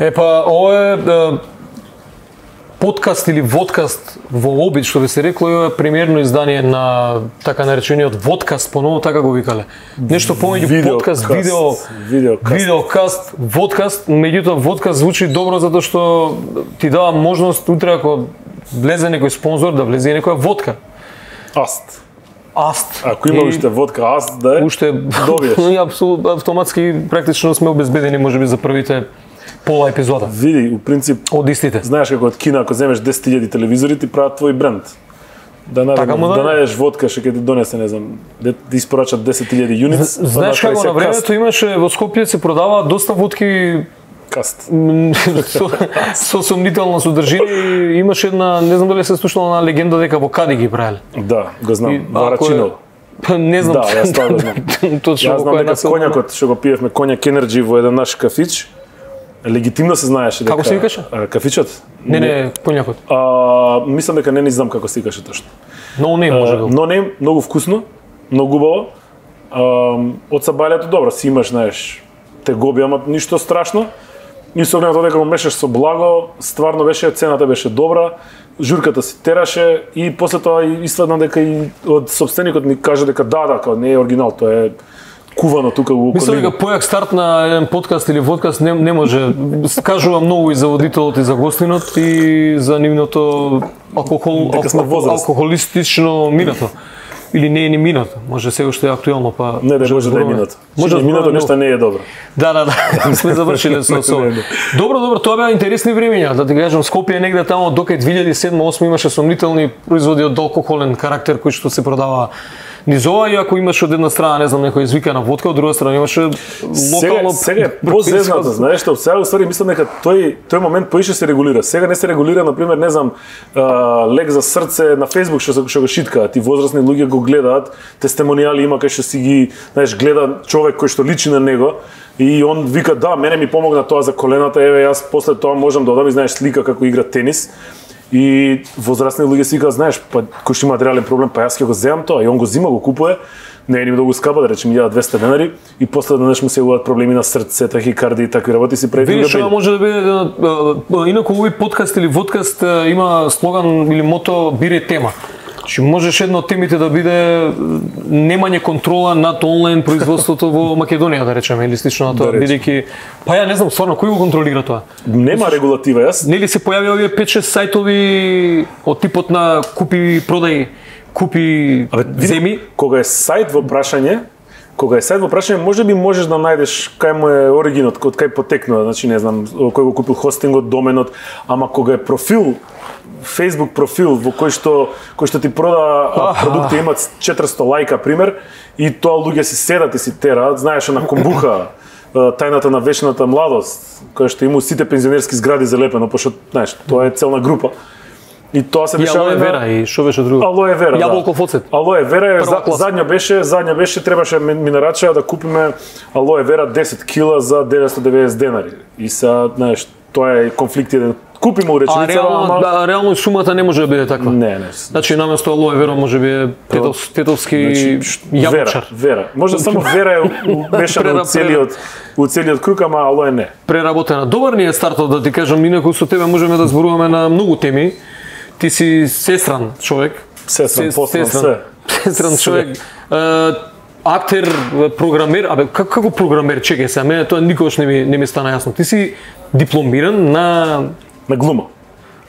Ова е подкаст или водкаст во обид, што би се рекло, е премиерно издание на така наречениот водкаст, поново така го викале. Нешто помеѓу подкаст, видеокаст, водкаст, меѓутоа водкаст звучи добро затоа што ти дава можност утре ако влезе некој спонзор да влезе некоја водка. Аст. Ако има уште водка Аст, да е, уште добиеш. Автоматски практично сме обезбедени можеби за првите пола епизода. Види, у принцип, од истите. Знаеш како од кино, ако земеш 10.000 телевизори, ти прават твој бренд. Да најдеш водка, што ќе ти донесе, не знам, да испорачат 10.000 юнитс. Знаеш како на времето имаше во Скопје се продава доста водки каст. Со сомнителна содржина и имаше една, не знам дали се слушнала на легенда дека во Кади ги правеле. Да, го знам, Варачино. Не знам. Да, јас тоа го знам. Јас знам дека коњакот што го пиевме коњак Енерджи во еден наш кафич, легитимно се знаеше дека... Како се викаше? Кафичот? Не, коњакот. Мислам дека не знам како се викаше точно. No Name може да. No Name, многу вкусно, многу убаво. Од сабајлето добро, си имаш, знаеш, тегоби, ама ништо страшно. И со оглед дека го мешаш со благо, стварно беше, цената беше добра, журката се тераше и после тоа извадна дека и од собственикот ми кажа дека да, не е оригинал, тоа е кувано тука во околина. Мислам дека појак старт на еден подкаст или водкаст не може. Кажува многу и за водителот и за гостинот и за нивното алкохолистично минато. Или не е ни минато, може сега уште е актуелно, па... Не, може да е минато. Може да минато нешто не е добро. Да, сме завршиле со ова. Добро, тоа беа интересни времења, да ти кажам, Скопје негде тамо дока 2007-2008 имаше сомнителни производи од алкохолен карактер кои што се продава низ ова, и ако имаш од една страна, не знам, некоја извикана водка, од друга страна имаше локално... Сега е позезнато, знаеш што, сега уствари мислам дека тој момент поише се регулира. Сега не се регулира, например, не знам, лек за срце на Facebook што го шиткаат, и возрастни луѓе го гледаат, тестимонијали има кај што си ги, знаеш, гледа човек кој што личи на него, и он вика, да, мене ми помогна тоа за колената, еве јас после тоа можам да одам и знаеш слика како игра тенис. И возрастни луѓе си викаат, знаеш, па кој што има реален проблем, па јас ќе го земам тоа, и он го зима, го купува, не е ни многу скапа, да речем 1200 денари, и после денес му се јавуваат проблеми на срце, тахикардија и такви работи, си прави. Видиш, ова може да биде, инаку овој подкаст или водкаст има слоган или мото бире тема. Значи можеш една од темите да биде немање контрола над онлайн производството во Македонија, да речеме, или слично на тоа, бидејќи па ја не знам стварно кој го контролира тоа. Нема регулатива, јас. Нели се појави овие 5-6 сајтови од типот на купи продај, купи земи. Кога е сајт во прашање, можеби можеш да најдеш кај му е оригинот, од кај потекнува, значи не знам, кој го купил хостингот, доменот, ама кога е профил, Facebook профил во кој што ти прода продукти имаат 400 лајка пример, и тоа луѓе си седат и си тераат, знаеш на Комбуха, тајната на вечната младост, која што има сите пензионерски згради залепено, пошто знаеш, тоа е целна група. И тоа се дешава на вера и што беше друго? Алоe вера. Јаболков оцет. Алоe вера задња беше требаше ми нарачаа да купиме алоe вера 10 кила за 990 денари. И са, знаеш, тоа е конфликт еден. Купиме уреченица, ама реално сумата не може да биде таква. Не. Значи наместо алоe вера може би тетовски јаболчар. Вера. Може само вера е умешана у целиот круг, ама алоe не. Преработена. Добар ни е стартот, да ти кажам, инаку со тебе можеме да зборуваме на многу теми. Ти си сестран човек. Сестран човек. Актер, програмер, како програмер, чекај се, мене тоа никогаш не ми стана јасно. Ти си дипломиран на глума.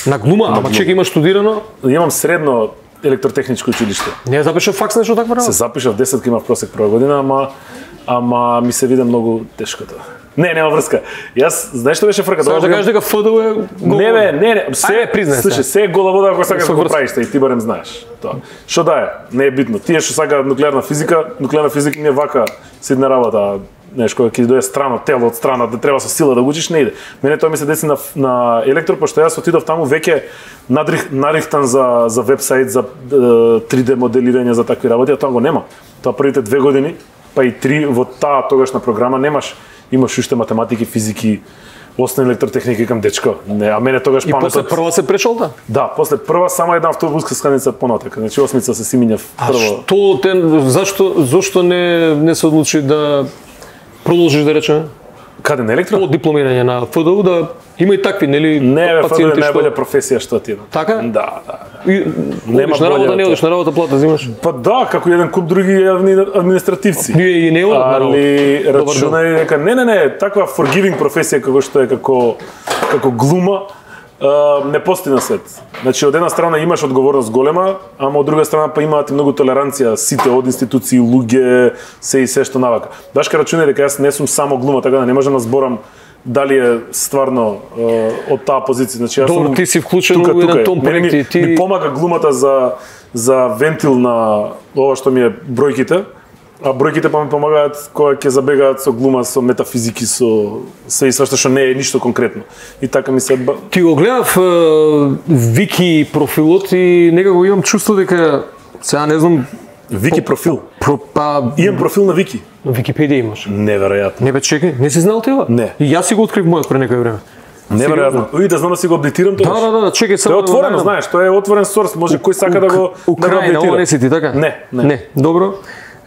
На глума, ама чекај, имаш студирано? Имам средно електротехничко училиште. Не запишав факс нешто такво работа? Се запишав 10 имав просек прва година, ама ми се виде многу тешко тоа. Нема врска. Јас, знаеш што беше фрката? Сакаш да кажеш дека ФДУ е голо? Не, се е гола вода ако сакаш да го правиш, и ти барем знаеш тоа. Што да е, не е битно. Тие што сакаат нуклеарна физика не е вака сидна работа, знаеш, кога ќе дојде страно тело од страна, да треба со сила да го учиш, не иде. Мене тоа ми се деси на електро, пошто јас отидов таму веќе нарихтан за вебсайт, за 3D моделирање, за такви работи, а тоа го нема. Тоа првите 2 години, па и 3 во таа тогашна програма немаш. Имаш уште математики, физики, основна електротехника кам дечко. Не, а мене тогаш паметот. И после прва се прешолта? Да, после прва само една автобуска станица понатака. Значи осмица се симињав прво. А зашто не се одлучи да продолжиш, да речеме? Каде на електро? По дипломирање на ФДУ да има и такви, нели, Не, бе, ФДУ е пациенти најболја професија што ти е. Така? Да. И, Нема одиш на работа, боле не од одиш на работа, плата взимаш. Па да, како еден куп други административци. Ние и не одат на работа. Али рачунај дека не, таква forgiving професија како што е како глума не постои на свет. Значи од една страна имаш одговорност голема, ама од друга страна па имаат и многу толеранција сите од институции, луѓе, се и се што навака. Башка рачунај дека јас не сум само глума, така да не можам да зборам дали е стварно од таа позиција. Значи јас Добро, сум ти си вклучен во еден том проекти, ми помага глумата за вентил на ова што ми е бројките. А бројките па ми помагаат кога ќе забегаат со глума, со метафизики, со се и свашто што не е ништо конкретно. И така ми се Ти го гледав Вики профилот и некако имам чувство дека сега не знам Вики профил. па Имам профил на Вики. на Википедија имаш. Неверојатно. Не бе, чекај, не си знал тоа? Не. И јас си го открив мојот пред некој време. Неверојатно. Уи да знам да си го апдейтирам тоа. Да, чекај Тоа само. е отворено, знаеш, тоа е отворен сорс, може кој сака да го Украина, ова не си ти, така? Не. Добро.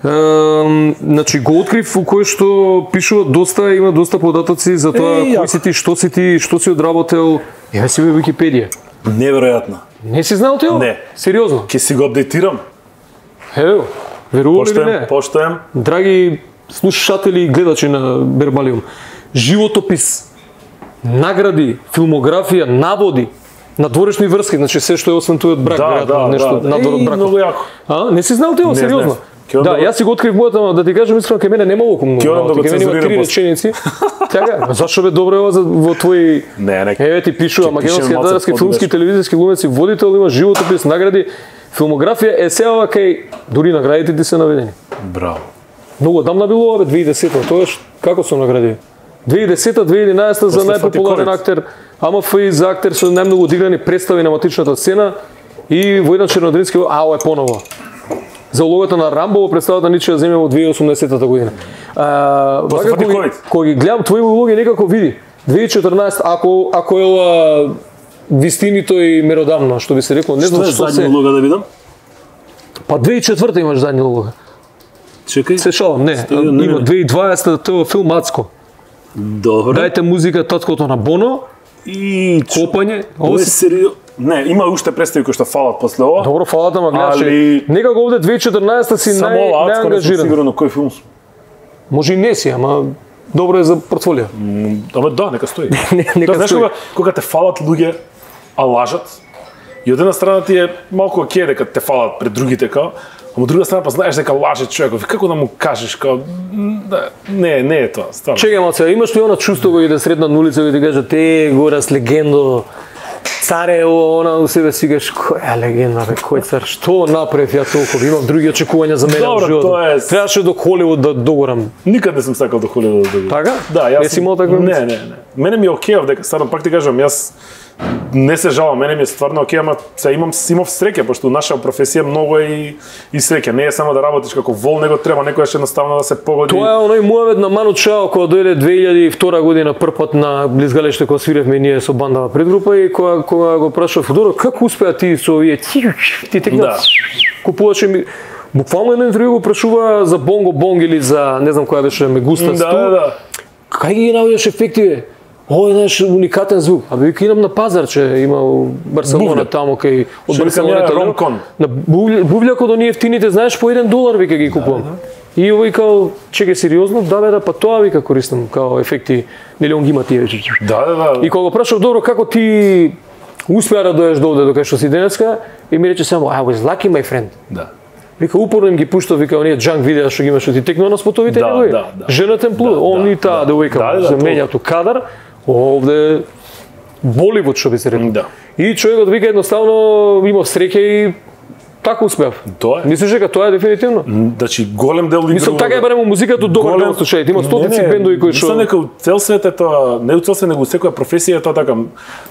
Значи го открив во кој што пишува има доста податоци за тоа кој си ти, што си одработел. Еве си во Википедија. Неверојатно. Не си знал тоа? Не. Сериозно? Ќе си го апдейтирам. Ево, верували ли не? Поштоем. Драги слушатели и гледачи на Вербалиум, животопис, награди, филмографија, наводи, надворешни врски, значи се што е освен тој од брак, веројатно нешто надвор од бракот. Многу јако. А, не си знал тоа, сериозно? Да, јас си го открив мојата, да ти кажам искрено, кај мене нема околу многу. Кај мене има 3 реченици. Така, зашо бе добро е ова во твои еве ти пишува македонски, татарски, филмски, телевизиски глумеци, водител, има животопис, награди, филмографија, есеова кај дури наградите ти се наведени. Браво. Многу одамна било ова 2010-та, тоа како се награди? 2010-та, 2011-та за најпопуларен актер, АМФИ за актер со најмногу одиграни представи на матичната сцена и во еден чернодримски ова е поново. За улогата на Рамбо во представата Ничија земја во 2018 година. Кога ги гледам твои улоги некако види 2014 ако е ова вистинито и меродавно, што би се рекло, не знам што се улога да видам. Па 2004 имаш задни улога. Чекај. Се шалам, не. Има 2020 тоа филм Мацко. Добро. Дајте музика Таткото на Боно и Копање. Ова се сериозно. Не, има уште представи кои што фалат после ова. Добро, фалат, ама гледаш. Некако овде 2014 си најангажиран. Сигурно кој филм. Може и не си, ама добро е за портфолио. Ама да, нека стои. Нека знаеш кога те фалат луѓе, а лажат, и од една страна ти е малку окей дека те фалат пред другите као, ама од друга страна па знаеш дека лаже човеков. Како да му кажеш као не е тоа, стварно. Чекај малце, имаш ли она чувство кога иде средна на улица и ти кажат горас легендо, царе, она у себе си кажеш која легенда бе, кој цар, што направив ја толку, имам други очекувања за мене во животот. Требаше до Холивуд да догорам. Никад не сум сакал до Холивуд да догорам. Така? Да, јас. Не си имал таква? Не. Мене ми е окей дека стварно пак ти кажам, јас не се жалам, мене ми е стварно окей, ама се имав среќа, пошто наша професија многу е и среќа. Не е само да работиш како вол, него треба некојаш едноставно да се погоди. Тоа е оној Муавет на Ману Чао кога дојде 2002 година првпат на Близгалеште кога свиревме ние со бандава предгрупа и кога го прашав Фудоро како успеа ти со овие ти текна купуваше ми буквално едно интервју го прашува за Бонго Бонг или за не знам која беше Мегуста сту. Да. Кај ги наоѓаш ефекти бе? Ој наш уникатен звук. Абе вика идам на пазарче, има Барселона таму кај од Барселона Ромкон. На бувљакот до ние ефтините, знаеш по $1 вика ги купувам. И овој као чекај сериозно, да, па тоа вика користам као ефекти, нели он ги има тие. Да. И кога го прашав добро како ти успеа да дојдеш до овде до кај што си денеска, и ми рече само I was lucky my friend. Да. Вика упорно им ги пуштав, вика оние джанк видеа што ги имаш, што ти текнува на спотовите негови. Женатен плуд, он и таа девојка се менја ту кадар. Овде Боливуд што би се рекол. Да. И човекот вика едноставно имав среќа и така успеав. Тоа е. Мислиш дека тоа е дефинитивно? Значи голем дел Мислам така е барем музиката добар дел слушајте. Има стотици бендови кои што мислам дека цел свет е тоа, не цел свет него секоја професија е тоа така.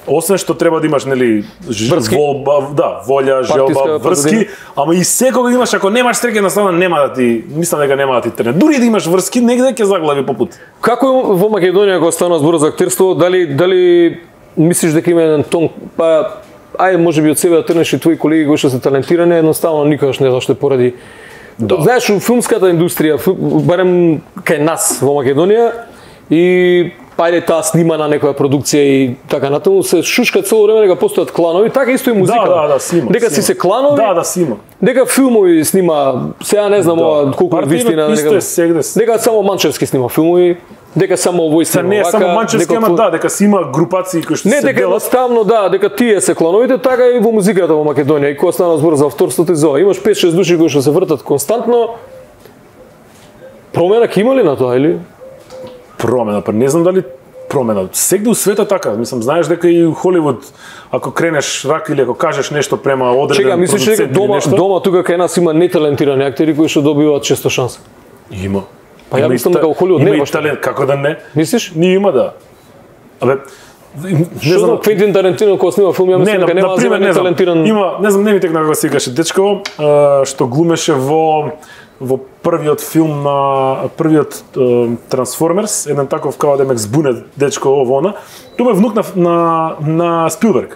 Освен што треба да имаш нели волја, желба, врски, ама и секога имаш ако немаш среќа едноставно нема да ти, мислам дека нема да ти трне. Дури да имаш врски, негде ќе заглави по пат. Како во Македонија кога станува збор за актерство, дали мислиш дека има еден тон, па ајде можеби од себе да трнеш и твои колеги кои што се талентирани, едноставно никогаш не зашто поради. Знаеш, у филмската индустрија, барем кај нас во Македонија, и ајде таа снима на некоја продукција и така натаму се шушка цело време дека постојат кланови, така исто и музика. Да, си има. Дека си се кланови. Да, си има. Дека филмови снима, сега не знам ова колку е вистина, дека само Манчевски снима филмови, дека само овој снима. Не, само Манчевски, ама дека си има групации кои што се делат. Не, дека едноставно дека тие се клановите, така и во музиката во Македонија. И кога стана збор за авторството и за ова, имаш 5-6 души кои што се вртат константно. Промена ќе има ли на тоа или? Промена, па не знам дали промена. Сегде у светот така, мислам, знаеш дека и Холивуд, ако кренеш рак или ако кажеш нешто према одреден продуцент или нешто... дома тука кај нас има неталентирани актери кои што добиваат често шанса. Има. Па ја мислам дека во Холивуд нема нема талент, како да не? Мислиш? Не има да. Абе, не знам, Квентин Тарантино кога снима филм, ја мислам дека нема за неталентиран. Има, не знам, не ми текна како се викаше дечко, што глумеше во првиот филм на првиот Трансформерс, еден таков као демек збунет дечко овона, тоа е внук на Спилберг.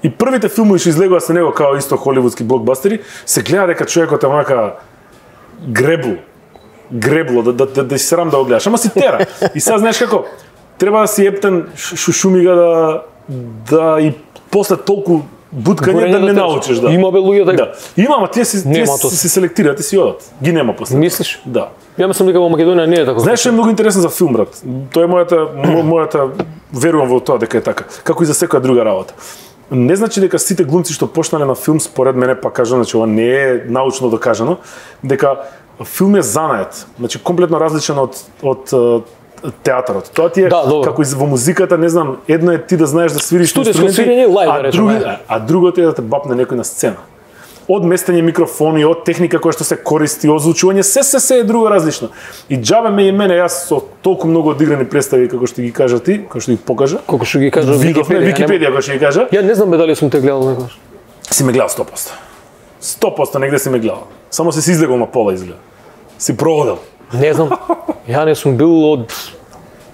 И првите филмови што излегува со него као исто холивудски блокбастери, се гледа дека човекот е онака гребло, да си срам да го гледаш, ама си тера. И сега знаеш како, треба да си ептен шумига да и после толку буткање да не научиш, да. Има бе луѓе така. Да. Има, ама тие се селектираат и си одат. Ги нема после. Мислиш? Да. Ја мислам дека во Македонија не е така. Знаеш што е многу интересно за филм, брат? Тоа е мојата верувам во тоа дека е така, како и за секоја друга работа. Не значи дека сите глумци што почнале на филм, според мене, па кажам, значи ова не е научно докажано, дека филм е занает, значи комплетно различен од театарот. Тоа ти е како и во музиката, не знам, едно е ти да знаеш да свириш инструменти, а другото е да те бапне некој на сцена. Од местење микрофони, од техника која што се користи, озвучување, се е друго различно. И џабе ме и мене, јас со толку многу одиграни представи како што ги кажа ти, како што ги покажа. Како што ги кажа Википедија како што ги кажа. Ја не знам дали сум те гледал некогаш. Си ме гледал 100%. 100% негде си ме гледал. Само се излегол на пола изгледа. Си проводел. Не знам. Ја не сум бил од...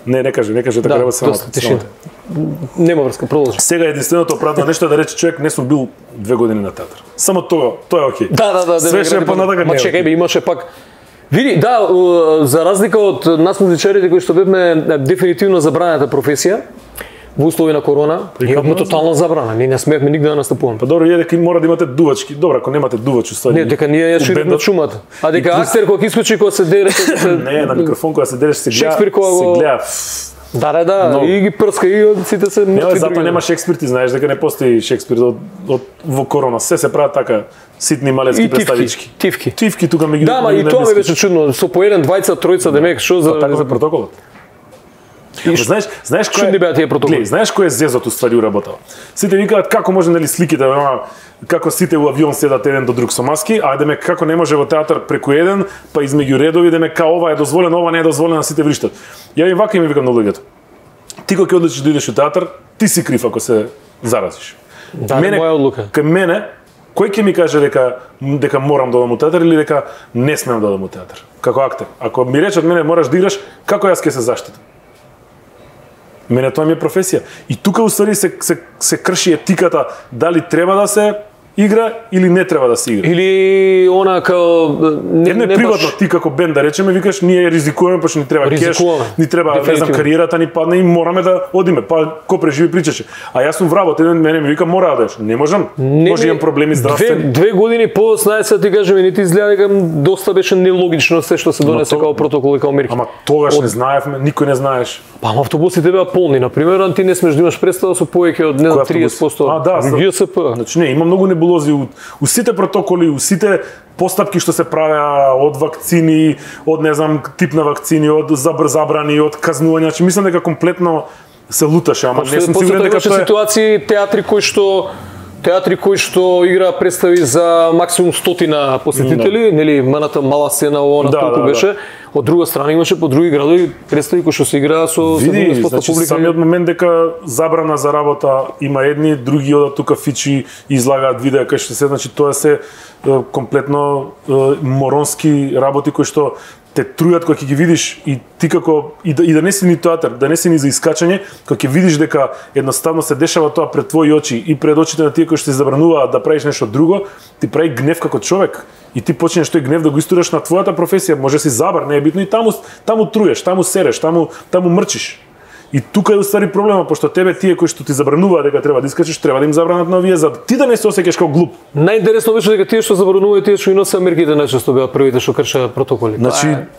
Не кажи така треба само. Нема врска, продолжи. Сега единственото оправдано нешто е да рече човек не сум бил 2 години на театар. Само тоа е окей. Да. Све што е понатака не. Ма чекај бе, имаше пак види, да, за разлика од нас музичарите кои што бевме дефинитивно забранета професија, во услови на корона, имавме тотална забрана. Ние не смеевме нигде да настапуваме. Па добро, дека мора да имате дувачки. Добро, ако немате дувач, уствари. Не, дека ние ја шириме шумата. А дека актер кога искочи кога се дере, не, на микрофон кога се дереш се гледа. Да, и ги прска и сите се мртви. Не, затоа нема Шекспир, ти знаеш дека не постои Шекспир во корона. Се прават така ситни малецки представички. Тивки тука ми ги. Да, ма и тоа ми беше чудно. Со по еден, двајца, тројца демек, што за протоколот? Знаеш кој беа тие протоколи? Знаеш кој е зезот уствари уработава? Сите викаат како може нели сликите, како сите во авион седат еден до друг со маски, а демек како не може во театар преку еден, па измеѓу редови демек као ова е дозволено, ова не е дозволено, сите вриштат. Ја им вака им викам на луѓето. Ти кога ќе одлучиш да идеш во театар, ти си крив ако се заразиш. Да, моја одлука. Кај мене кој ќе ми каже дека морам да одам во театар или дека не смеам да одам во театар како актер? Ако ми речат мене мораш да играш, како јас ќе се заштитам? Мене тоа ми е професија. И тука уствари се крши етиката дали треба да се игра или не треба да се игра. Или она као не приватно ти како бенд да речеме викаш ние ризикуваме па што ни треба кеш, ни треба не знам кариерата ни падне и мораме да одиме. Па ко преживи причаше. А јас сум вработ, еден мене ми вика мора да одеш. Не можам. Може имам проблеми здравствени. 2 години по-знаеш ти кажеме ни ти изгледа дека доста беше нелогично се што се донесе како протокол и како мерки. Ама тогаш не знаевме, никој не знаеш. Па автобусите беа полни, на пример, ти не смеш да имаш представа со повеќе од 30%. ГСП. Значи не, има многу небулози у сите протоколи, у сите постапки што се правеа од вакцини, од не знам тип на вакцини, од забрани, од казнување. Значи мислам дека комплетно се луташе, ама не сум сигурен дека тоа е ситуации театри кои што игра представи за максимум 100 посетители, нели маната мала сцена на толку беше. Од друга страна имаше по други градови представи кои што се играа со 70% публика. Самиот момент дека забрана за работа има едни, други одат тука фичи излагаат видеа кај што се, значи тоа се комплетно моронски работи кои што те трујат кога ќе ги видиш и ти како и да не си ни театар, да не си ни за искачање, кога ќе видиш дека едноставно се дешава тоа пред твои очи и пред очите на тие кои што ти забрануваат да правиш нешто друго, ти прави гнев како човек. И ти почнеш тој гнев да го истураш на твојата професија, може си забар, не е битно, и таму труеш, таму сереш, таму мрчиш. И тука е уствари проблема, пошто тебе тие кои што ти забрануваат дека треба да искачеш, треба да им забранат на овие за ти да не се осеќаш како глуп. Најинтересно беше дека тие што забрануваат, тие што и носат мерките најчесто беа првите што кршеа протоколи. Значи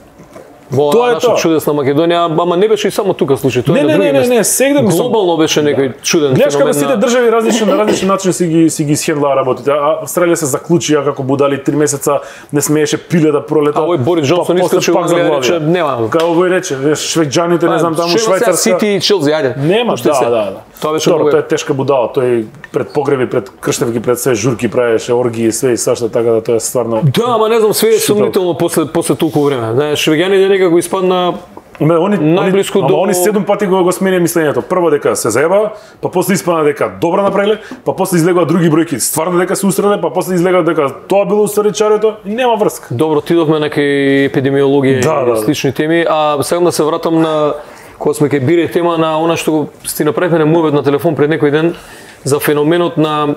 тоа е тоа. Чудесна Македонија, ама не беше и само тука случај, тоа е на други места. Не, сегде глобално беше некој чуден феномен. Гледаш како сите држави на различен начин си ги схендлаа работите. Австралија се заклучија како будали 3 месеца, не смееше пиле да пролета. А овој Борис Џонсон искачи во Англија, рече нема. Како овој рече, швејќаните не знам таму Швајцарска. Сити и Челси, ајде. Нема, да. Тоа беше тоа е тешка будала, тој пред погреби, пред крштевки, пред све журки правеше оргии, све и свашта, така да тоа е стварно. Да, ама не знам, све е сумнително после толку време. Знаеш, швеѓаните некако испадна Они најблиску до... Они 7 пати го смени мислењето. Прво дека се заеба, па после испадна дека добро направиле, па после излегува други бројки, стварно дека се устреле, па после излегува дека тоа било уствари чарето, нема врска. Добро, отидовме на некои епидемиологија и слични теми, а сега да се вратам на кога сме ке бире тема на она што сти направивме на мовет на телефон пред некој ден за феноменот на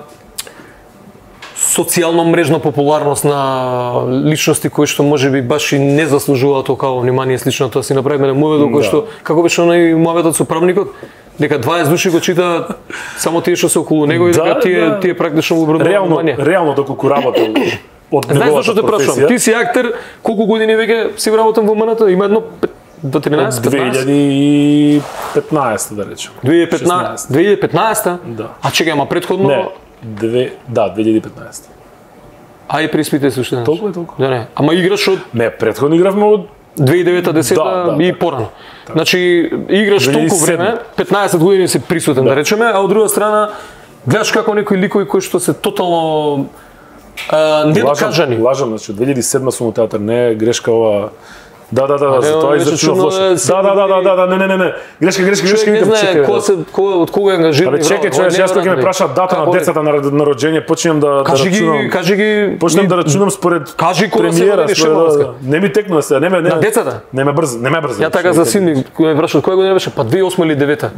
социјално мрежна популарност на личности кои што можеби баш и не заслужуваат толкова внимание слично тоа си направиме на мовето кој што како беше оној моветот со правникот дека 20 души го читаат само тие што се околу него и дека тие практично го обрадуваат внимание. Реално доколку работел од неговата професија. Знаеш зашто те прашувам? Ти си актер, колку години веќе си работам во МНТ? Има едно до 13, 2015 да речем. 2015? Да. А чекај, ама претходно? Не, 2015. А и приспите се уште. Толку. Да, не. Ама играш од... Не, претходно игравме од 2009-10 и порано. Значи, играш толку време, 15 години си присутен, да речеме, а од друга страна, гледаш како некои ликови кои што се тотално недокажани. Лажам, значи, 2007 сум у театар, не е грешка ова... Да, за тоа изречено лошо. Да, не. Грешка, чекај. Од кога е ангажиран? Абе чекај, јас кога ќе ме прашаат дата на децата на роѓење, почнем да рачунам. Кажи ги. Почнем да рачунам според премиера. Не ми текнува се, не. На децата? Не ме брз. Ја така за син ми, кога ме прашаат која година беше, па 2008 или 2009.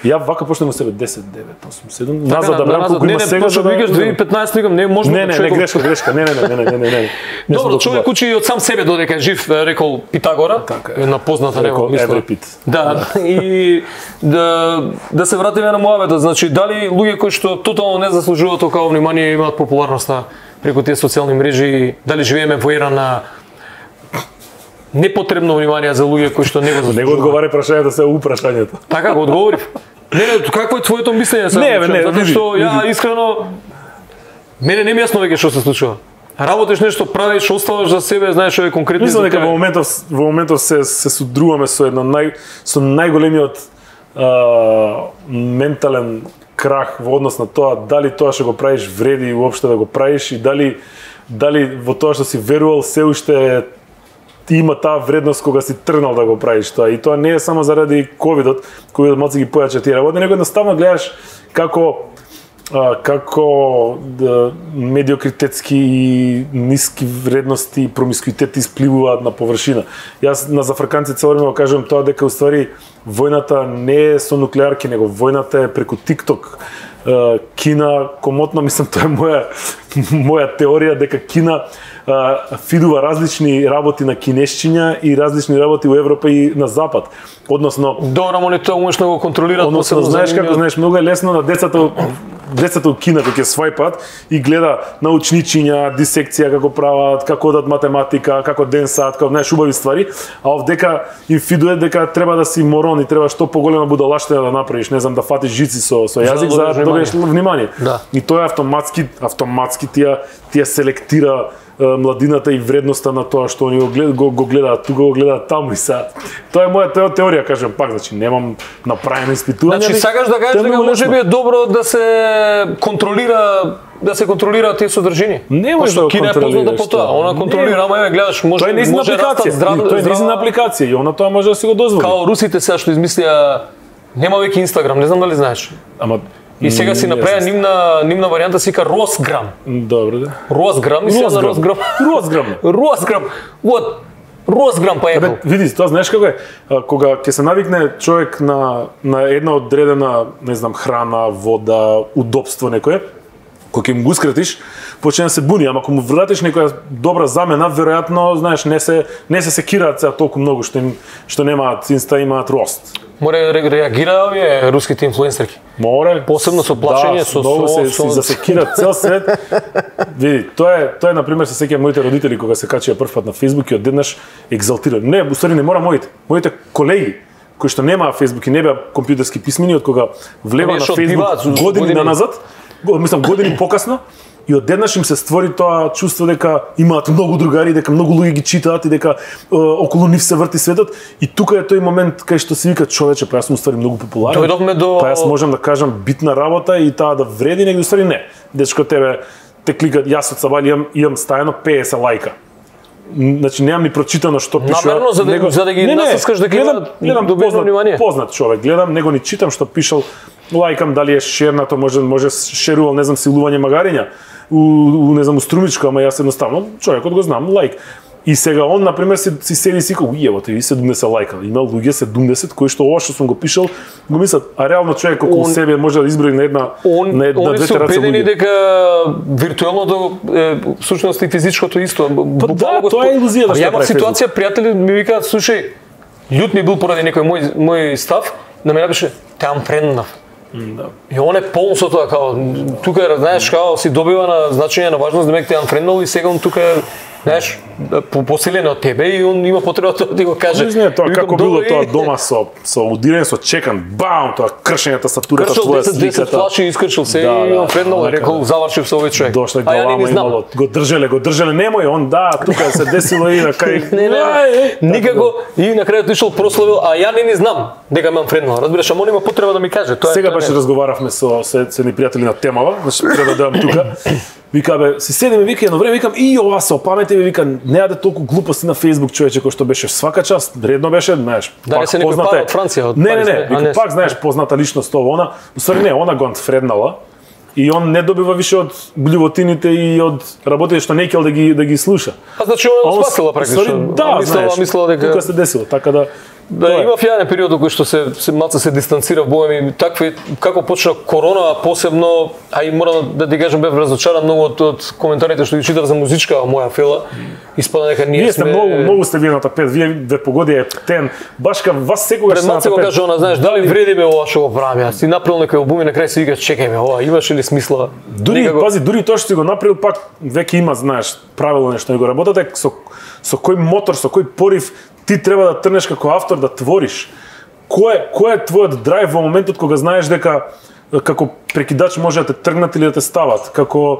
Ја вака почнем од себе 10, 9, 8, 7. Назад да брам колку има сега да викаш 2015 викам не може. Не, грешка. Не. Добро, човек учи од сам себе додека е жив, рекол Питагора, една позната него мисла. Да, и да се вратиме на муавета, значи дали луѓе кои што тотално не заслужуваат толкова внимание имаат популарноста преку тие социјални мрежи, дали живееме во ера на непотребно внимание за луѓе кои што не го заслужуваат. Не го одговарај прашањето, се упрашањето. Така го одговорив. Не, какво е твоето мислење сега? Не, затоа што ја искрено мене не ми јасно веќе што се случува. Работиш нешто, правиш, оставаш за себе, знаеш што е конкретно. Мислам дека во моментов се судруваме со најголемиот ментален крах во однос на тоа дали тоа што го правиш вреди уопште да го правиш и дали во тоа што си верувал се уште ти има таа вредност кога си тргнал да го правиш тоа. И тоа не е само заради ковидот, кој малку ги појача тие работи, него едноставно гледаш како медиокритетски и ниски вредности и промискуитет испливуваат на површина. Јас на зафрканци цело време го кажувам тоа дека уствари војната не е со нуклеарки, него војната е преку TikTok. Кина, комотно, мислам, тоа е моја теорија дека Кина фидува различни работи на кинешчиња и различни работи во Европа и на Запад. Односно, добро, но тоа умешно го контролираат. Односно, знаеш како, многу е лесно на децата у Кина кога ќе свајпат и гледа научничиња, дисекција како прават, како одат математика, како денсат, како знаеш убави ствари, а овдека им фидуе дека треба да си морон и треба што поголема будалаштина да направиш, не знам, да фатиш жици со јазик за да добиеш внимание. Да. И тоа автоматски тие селектира младината и вредноста на тоа што они го гледаат, тука го гледаат таму и са. Тоа е моја теорија, кажам пак, значи немам направено испитување. Значи сакаш да кажеш дека можеби е добро да се контролира тие содржини. Не може да Кина е позната по тоа, она контролира, ама гледаш, може растат здраво. Тоа е незина апликација и она тоа може да си го дозволи. Као русите сега што измислија нема веќе Инстаграм, не знам дали знаеш. Ама и сега си направи нивна варијанта се вика Росграм. Добро да. Росграм, мислам на Росграм. Росграм. Вот. Розграм па епл. Види, тоа знаеш како е, кога ќе се навикне човек на една одредена, не знам, храна, вода, удобство некое, кога ќе му го скратиш, почне да се буни, ама ако му вратиш некоја добра замена, веројатно, знаеш, не се секираат сега толку многу што немаат инста, имаат рост. Море реагира овие руските инфлуенсерки. Море. Посебно со плашење, со многу се засекираат цел свет. Види, тоа е на пример се сеќавам моите родители кога се качија прв пат на Facebook и одеднаш екзалтираа. Не, усвари не мора моите колеги кои што немаа Facebook и не беа компјутерски писмени, од кога влева на Facebook години назад, мислам години покасно, и одеднаш им се створи тоа чувство дека имаат многу другари, дека многу луѓе ги читаат и дека околу нив се врти светот, и тука е тој момент кај што се вика човече, па јас сум ствари многу популарен. Па јас можам да кажам битна работа и таа да вреди, негде ствари не. Дечко тебе те кликат, јас од Сабали имам стајано 50 лајка. Значи немам ни прочитано што пишува. Намерно за да ги насаскаш дека има добро внимание. Познат човек, гледам, него ни читам што пишал, лајкам дали е шернато, може шерувал, не знам, силување магариња. Не знам, у Струмичко, ама јас едноставно човекот го знам, лајк. И сега он, например, си седи и си како, јевате, и 70 лајка. Има луѓе 70 кои што ова што сум го пишал, го мислат, а реално човек околу себе може да изброи на една две тераци луѓе. Они се убедени дека виртуелното всушност и физичкото исто. Па да, тоа е илузија да што прави. Ја ситуација, пријатели ми викаат, слушај, љут ми бил поради некој мој став, да ме напише, те амфренднав. Да. И он е полн со тоа, као, тука, знаеш, као, си добива на значење на важност, демек те анфренднал и сега он тука е, знаеш, посилен од тебе и он има потреба тоа да ти го каже. Не, тоа како било тоа дома со удирен, со чекан, бам, тоа кршењата статурата твоја сликата. 10 флаши искршил се и анфренднал, рекол, завршив со овој човек. Дошле глава имало, го држеле, немој, он да, тука се десило и на кај. Не, никако, и на крајот ишол прославил, а ја не знам дека ме анфренднал. Разбираш, ама он има потреба да ми каже. Сега баш разговаравме со ни пријатели на темава, значи треба да тука. Вика бе, си седиме, вика едно време, викам и ова се опамети, вика не јаде толку глупости на Facebook, човече, кој што беше свака час, редно беше, знаеш, да не се некој пар од Франција, од Париз. Не, вика пак знаеш позната личност ова, она, усвари не, она го анфреднала и он не добива више од блювотините и од работите што не кел да ги слуша. А значи он спасила практично. Да, знаеш, мислела дека тука се десило, така да. Да, имав јаден период кој што се малку се дистанцира богами, такви како почна корона, посебно, а и морам да ти кажам бев разочаран многу од коментарите што ги читав за музичка моја фела. Испада дека ние сме многу сте вие на тапет, вие ве погоди ептен, баш кај вас секогаш сте на тапет. Пред малку го кажа она, знаеш, дали вреди бе ова што го правам јас? Си направил некој албум и на крај се вика чекај ме, ова имаше ли смисла? Дури тоа што си го направил пак веќе има, знаеш, правило нешто, го работате со кој мотор, со кој порив ти треба да трнеш како автор да твориш. Кој е твојот драйв во моментот кога знаеш дека како прекидач може да те тргнат или да те стават, како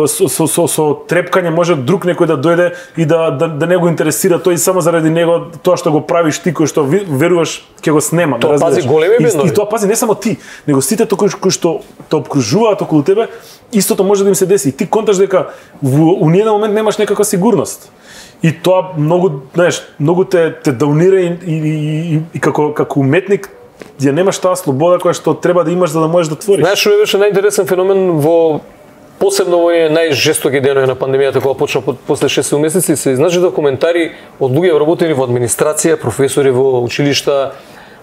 со трепкање може друг некој да дојде и да не го интересира тој само заради него тоа што го правиш ти кој што веруваш ќе го снема, тоа пази големи бендови. И тоа пази не само ти, него сите кои што те обкружуваат околу тебе, истото може да им се деси. И ти конташ дека во ниеден момент немаш некаква сигурност. И тоа многу, знаеш, многу те даунира и како уметник ја немаш таа слобода која што треба да имаш за да можеш да твориш. Знаеш, што беше најинтересен феномен посебно во овие најжестоки денови на пандемијата кога почна после 6 месеци се изначи коментари од луѓе вработени во администрација, професори во училишта,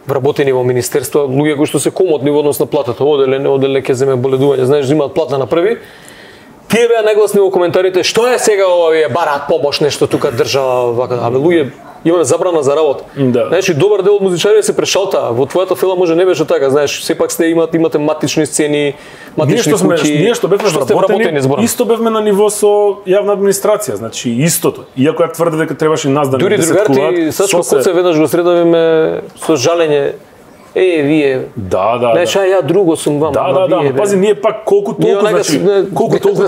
вработени во министерства, луѓе кои што се комотни во однос на платата, оделе ќе земе боледување, знаеш, имаат плата на први. Тие беа нагласни во коментарите, што е сега ова, вие бараат помош, нешто тука држава, вака, абе луѓе имаме забрана за работа. Да. Значи добар дел од музичарите се прешалтаа. Во твојата фила може не беше така, знаеш, сепак имате матични сцени, матични куќи. Ние што бевме вработени, исто бевме на ниво со јавна администрација, значи истото. Иако ја тврде дека требаше и нас да не се кулат. Дури другарти Сачко Коце веднаш го средавиме со жалење. Вие. Да. Значи, ја друго сум вам. Да. Пази, ние пак колку толку, значи, колку толку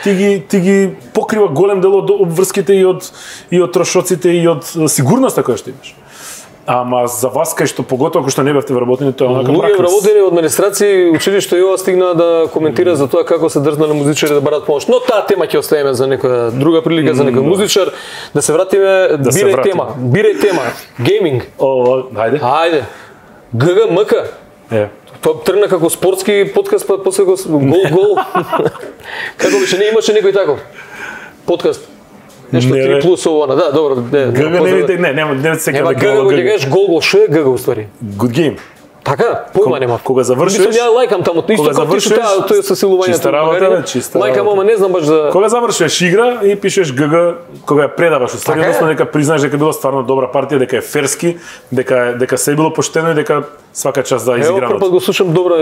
ти ги покрива голем дел од обврските и од трошоците и од сигурноста која што имаш. Ама за вас кај што поготово кој што не бевте вработени, тоа е онака пракрис. Луѓе вработени од администрација, училиште и ова стигна да коментира за тоа како се дрзнале музичари да барат помош. Но таа тема ќе оставиме за некоја друга прилика за некој музичар. Да се вратиме, бирај тема. Гейминг. Хајде. ГГМК. Тоа тргна како спортски подкаст, па после гол. Како беше, не имаше некој таков подкаст. Нешто 3 плюс ово, да, добро. Не се Нема ГГ, ќе кажеш гол, што е ГГ уствари? Good game. Така, појма нема. Кога завршиш, ја лајкам таму, исто како ти тоа со силувањето. Чиста работа, чиста. Лајкам, ама не знам баш за Кога завршиш игра и пишеш ГГ, кога ја предаваш, уствари, односно дека признаеш дека била стварно добра партија, дека е ферски, дека се било поштено и дека свака част за изиграното. Ево, прв пат го слушам добра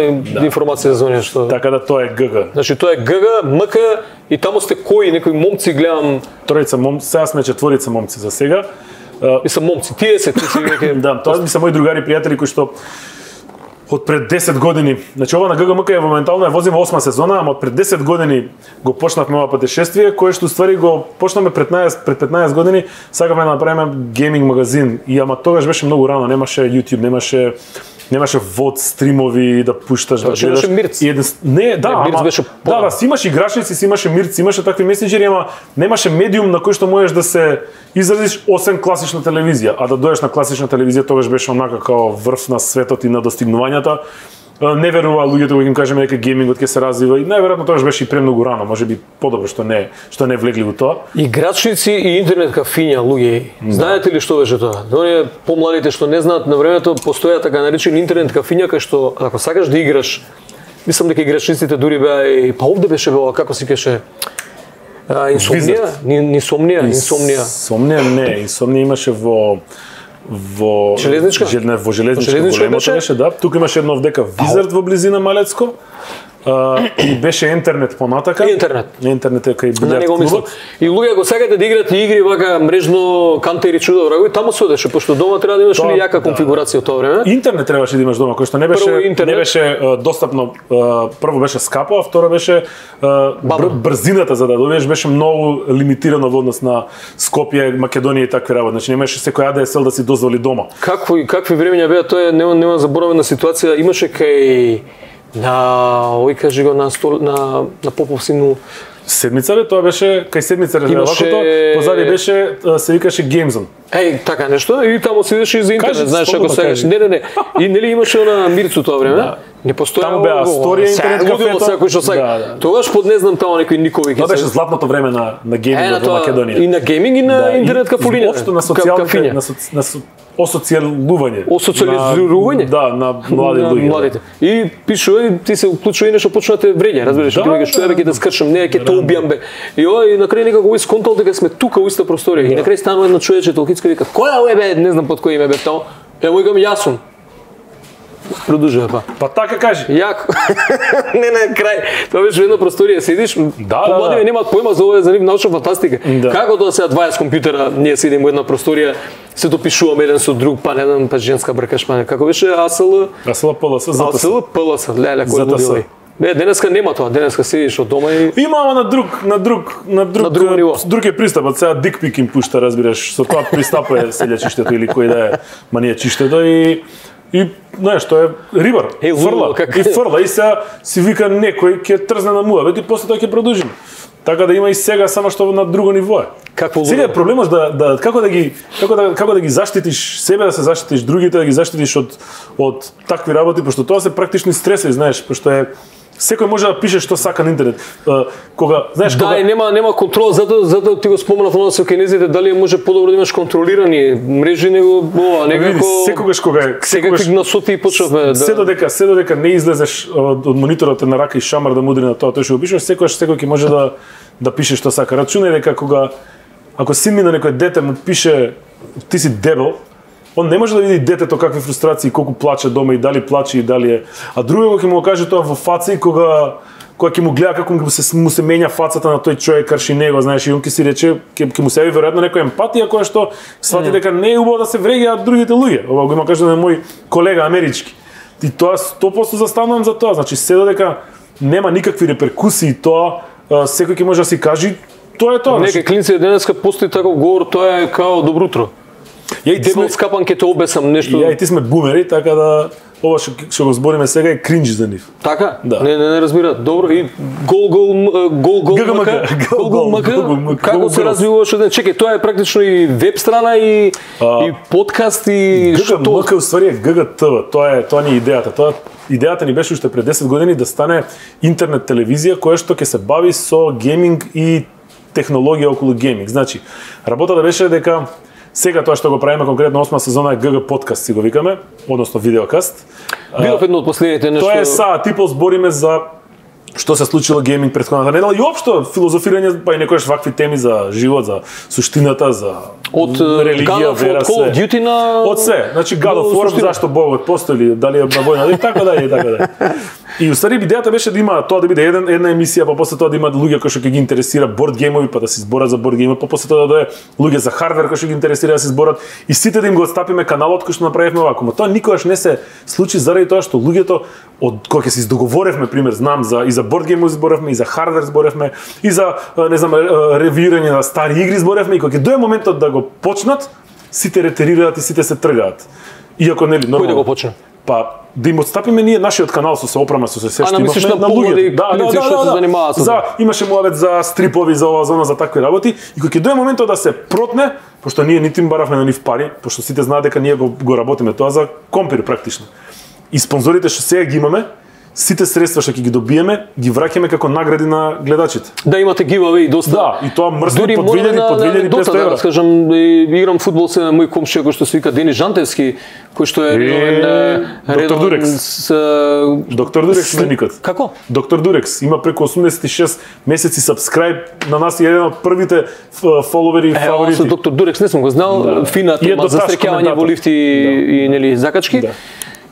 информација за неа што. Така да тоа е ГГ. Значи тоа е ГГ, МК и таму сте кои, некои момци гледам. Тројца момци, сега сме четворица момци за сега. Мислам момци, ти си веќе. Да, тоа ми се мои другари пријатели кои што од пред 10 години, значи ова на ГГМК е моментално ја возиме 8 сезона, ама од пред 10 години го почнавме ова патешествие, кое што ствари го почнавме пред 15 години, сакавме да направиме гейминг магазин, и ама тогаш беше многу рано, немаше YouTube, немаше вод стримови да пушташ, да гледаш. Имаше Мирц. Не, да, Мирц беше да, си имаш играчници, си имаше Мирц, имаше такви месенџери, ама немаше медиум на кој што можеш да се изразиш освен класична телевизија, а да доеш на класична телевизија тогаш беше онака као врв на светот и на достигнувањата. Не верува луѓето кога им кажеме дека геймингот ќе се развива и најверојатно тогаш беше и премногу рано, можеби подобро што не влегли во тоа. Играчници и интернет кафиња, луѓе. Знаете ли што беше тоа? Оние помладите што не знаат, на времето постоја така наречени интернет кафиња кај што ако сакаш да играш, мислам дека играчниците дури беа и па овде беше беа како се кеше Инсомнија имаше во Железничка? Во Железничка големото беше, да. Тука имаше едно вдека Визард во близина Малецко. И беше интернет понатака. Интернет е кај билиард клубот. И луѓе го сакате да играте игри вака мрежно кантери чудо врагови, таму се одеше, пошто дома треба да имаш или јака конфигурација од тоа време. Интернет требаше да имаш дома, кој што не беше достапно. Прво беше скапо, а второ беше брзината за да добиеш беше многу лимитирано во однос на Скопје, Македонија и такви работи. Значи немаше секој ADSL да си дозволи дома. Какви времења беа, тоа е нема заборавена ситуација, имаше кај ој кажи го на Попов сину Седмица бе, тоа беше кај Седмица вакото, позади беше се викаше Геймзон. Така нешто и таму се идеше и за интернет, знаеш ако сакаш. Не. И нели имаше на Мирцу тоа време? Не постоја. Таму беа Асторија интернет кафето. Секој што сака. Тогаш под не знам таму некои Никови. Тоа беше златното време на гейминг во Македонија. И на гейминг и на интернет кафулина. Општо на социјалните осоциализирање. Да, на младите. И пишува и ти се уклучува и нешто почна да те вреѓа, разбираш, ти веќе што ќе да скршам, не ќе те убијам бе. И ова и на крај некако сконтал дека сме тука во иста просторија. И на крај станува едно човече толкицко вика: "Која е бе?" Не знам под кој име бе таму. Ево викам јас сум. Продолжува па. Па така кажи. Јако. Не на крај. Тоа беше една просторија, седиш, помлади немаат појма за ова, за нив научна фантастика. Како тоа сега 20 компјутера, ние седиме во една просторија, се допишуваме еден со друг, па не знам, па женска бркаш, па како беше ASL PLS, PLS, леле кој лудило. Не, денеска нема тоа, денеска седиш од дома и има ама на друг е пристапот, сега дикпик им пушта, разбираш, со тоа пристапува селја чиштето или кој да е манија чиштето и знаеш, тоа е рибар, фрла и сега си вика некој ќе трзне на муавет и после тоа ќе продолжиме. Така да има и сега, само што на друго ниво е. Сега е проблемот како да ги заштитиш себе, да се заштитиш другите, да ги заштитиш од такви работи, пошто тоа се практични стресови, знаеш, пошто е секој може да пише што сака на интернет. Кога, знаеш, да, и нема контрол, затоа ти го спомнав оно со кинезите, дали може подобро да имаш контролирани мрежи него ова, некако секогаш насоти почнавме се додека не излезеш од мониторот на рака и шамар да мудри на тоа, тој што го пишеш, секој ќе може да пише што сака. Рачунај дека ако син ми на некој дете му пише ти си дебел, он не може да види детето какви фрустрации, колку плаче дома и дали плаче и дали е. А другиот ќе му каже тоа во фаца и кога ќе му гледа како му се менја фацата на тој човек карши него, знаеш, и он ќе си рече, ќе му се јави веројатно некоја емпатија која што свати дека не е убаво да се вреѓаат другите луѓе. Ова го има кажа на мој колега амерички. И тоа 100% застанувам за тоа, значи се додека нема никакви реперкусии тоа, секој ќе може да си каже тоа е тоа. Некои клинци денеска постои таков говор, тоа е као добро утро. Ја и ти сме скапан ке те обесам нешто. Ја и ти сме бумери, така да ова што го збориме сега е кринџ за нив. Така? Да. Не разбираат. Добро и гол како се развива што чекај, тоа е практично и веб страна и подкаст и што ГГМК уствари е ГГТV. Тоа ни идејата. Идејата ни беше уште пред 10 години да стане интернет телевизија која што ќе се бави со гейминг и технологија околу гейминг. Значи, работата беше дека сега тоа што го правиме конкретно 8 сезона е ГГ подкаст, си го викаме, односно видеокаст. Било едно од последните нешто. Тоа е типол збориме за што се случило гейминг претходната недела и општо филозофирање па и некојаш вакви теми за живот, за суштината, за од религија, вера, Call of Duty на од се. Значи God of War, зашто Богот постои, дали е на војна, и така да е. И уствари идејата беше да има тоа да биде една емисија, па после тоа да има луѓе кои што ќе ги интересира борд геймови, па да се зборат за борд геймови, па после тоа да дое луѓе за хардвер кои што ги интересира да се зборат и сите да им го отстапиме каналот кој што направивме вако. Но тоа никогаш не се случи заради тоа што луѓето од кога ќе се издоговоревме, пример, знам и за борд геймови зборевме, и за хардвер зборевме, и за не знам ревирање на стари игри зборевме, и кога ќе дое моментот да го почнат, сите ретерираат и сите се тргаат. Иако нели нормално. Кој да го почне? Па да им отстапиме ние нашиот канал со се опрама со се што имавме на луѓе. Да. Имаше муавет за стрипови, за ова зона, за такви работи и кога ќе дое моментот да се протне, пошто ние ниту им баравме на нив пари, пошто сите знаат дека ние го работиме тоа за компир практично. И спонзорите што сега ги имаме, сите средства што ќе ги добиеме, ги враќаме како награди на гледачите. Да имате giveaway доста. Да, и тоа мрсни по 2500 евра. Да скажам, играм фудбал се на мој комшија кој што се вика Дени Жантевски, кој што е Доктор Дурекс. Доктор Дурекс ме никот. Како? Доктор Дурекс има преку 86 месеци сабскрајб на нас и еден од првите фоловери и фаворити. Со Доктор Дурекс не сум го знал, фина тема за стрекјавање во лифти и нели закачки.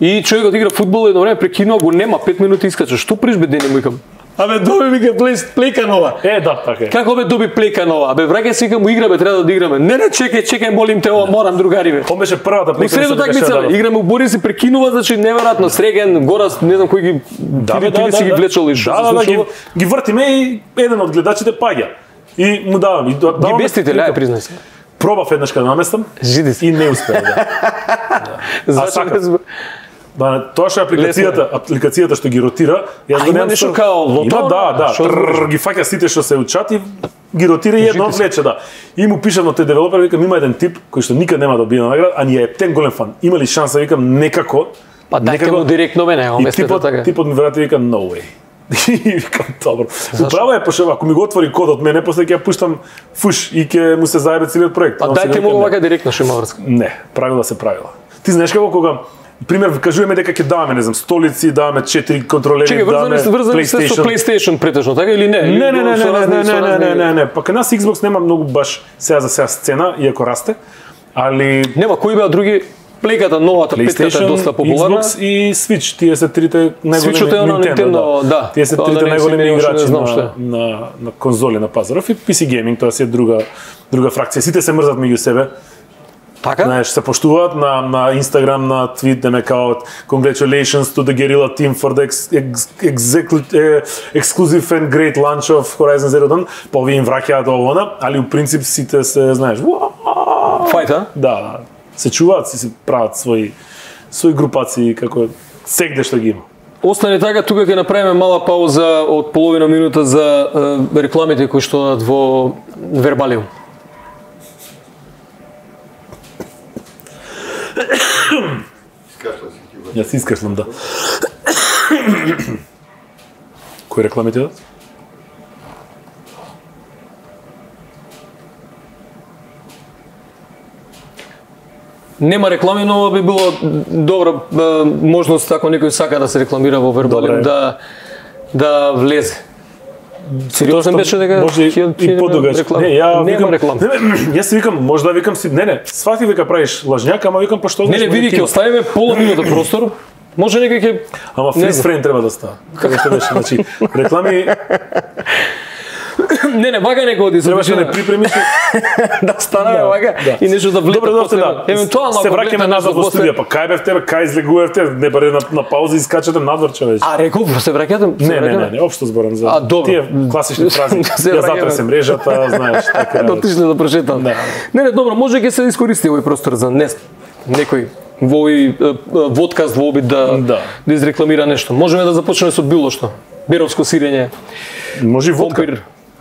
И човекот игра фудбал едно време прекинува, го нема 5 минути искача. Што приш бе Дени, му викам? Абе доби ми ке плейка нова. Да, така е. Како бе доби плейка нова? Абе враќај се викам, игра бе, треба да играме. Не, чекај, молим те, ова морам другари бе. Он беше првата плейка. Средно такмица, играме у Борис и прекинува, значи неверојатно Среген, Горас, не знам кој ги ти си ги влечал и што се случува. Ги вртиме и еден од гледачите паѓа. И му давам и ги бестите, лај признај се. Пробав еднаш кога наместам. Жиди се. И не успеа, да. Зашто тоа што апликацијата што ги ротира, јас го немам нешто као лото. Има ги фаќа сите што се учат и ги ротира и едно влече, да. И му пишам на тој девелопер, викам има еден тип кој што никад нема да добие награда, а ни е тен голем фан. Има ли шанса, викам некако. Па дајте му директно мене, местето така. Типот ми врати вика no way. И викам добро. Управо е пошто ако ми го отвори кодот мене, после ќе ја пуштам фуш и ќе му се заебе целиот проект. А дајте му овака директно што има врска. Не, правила се правила. Ти знаеш како кога пример кажуваме дека ќе даваме, не знам, столици, даваме 4 контролери, даваме PlayStation. Со PlayStation претежно, така или не? Не. Па кај нас Xbox нема многу баш сега сцена, иако расте, али нема кои беа други. Плейката, новата, петката е доста популарна. Xbox и Switch, тие се трите најголеми Nintendo, да. Тие се трите најголеми играчи на конзоли на пазаров и PC gaming, тоа си е друга фракција. Сите се мрзат меѓу себе. Така? Знаеш, се поштуваат на Instagram, на твит, деме као congratulations to the Guerrilla team for the exclusive and great launch of Horizon Zero Dawn. Па овие им враќаат овона, али у принцип сите се, знаеш, фајта? Да, се чуваат, се прават своји групации како сегде што ги има. Остане така, тука ќе направиме мала пауза од половина минута за рекламите кои што одат во Вербалиум. Јас искашлам, да. Кои рекламите одат? Нема реклами, но би било добра можност ако некој сака да се рекламира во Вербалиум да влезе. Сериозно беше дека може и подугачко. Не, нема реклама. Јас си викам, може да викам си, не, свати вика правиш лажњак, ама викам пошто не, види ќе оставиме пола минута простор. Може некој ќе ама фриз фрейм треба да става. Како што беше, значи реклами Не, вака не годи, требаше да припремиш да станаме вака и нешто да влета после. Евентуално се враќаме назад во студија, па кај бевте, кај излегувавте, не баре на пауза искачате надвор човече. А реков се враќате? Не, општо зборам за тие класични фрази. Ја затресем мрежата, знаеш, така. Дотишне да прошетам. Не, добро, може ќе се искористи овој простор за некој во овој водкаст во обид да изрекламира нешто. Можеме да започнеме со било што. Беровско сирење. Може водка.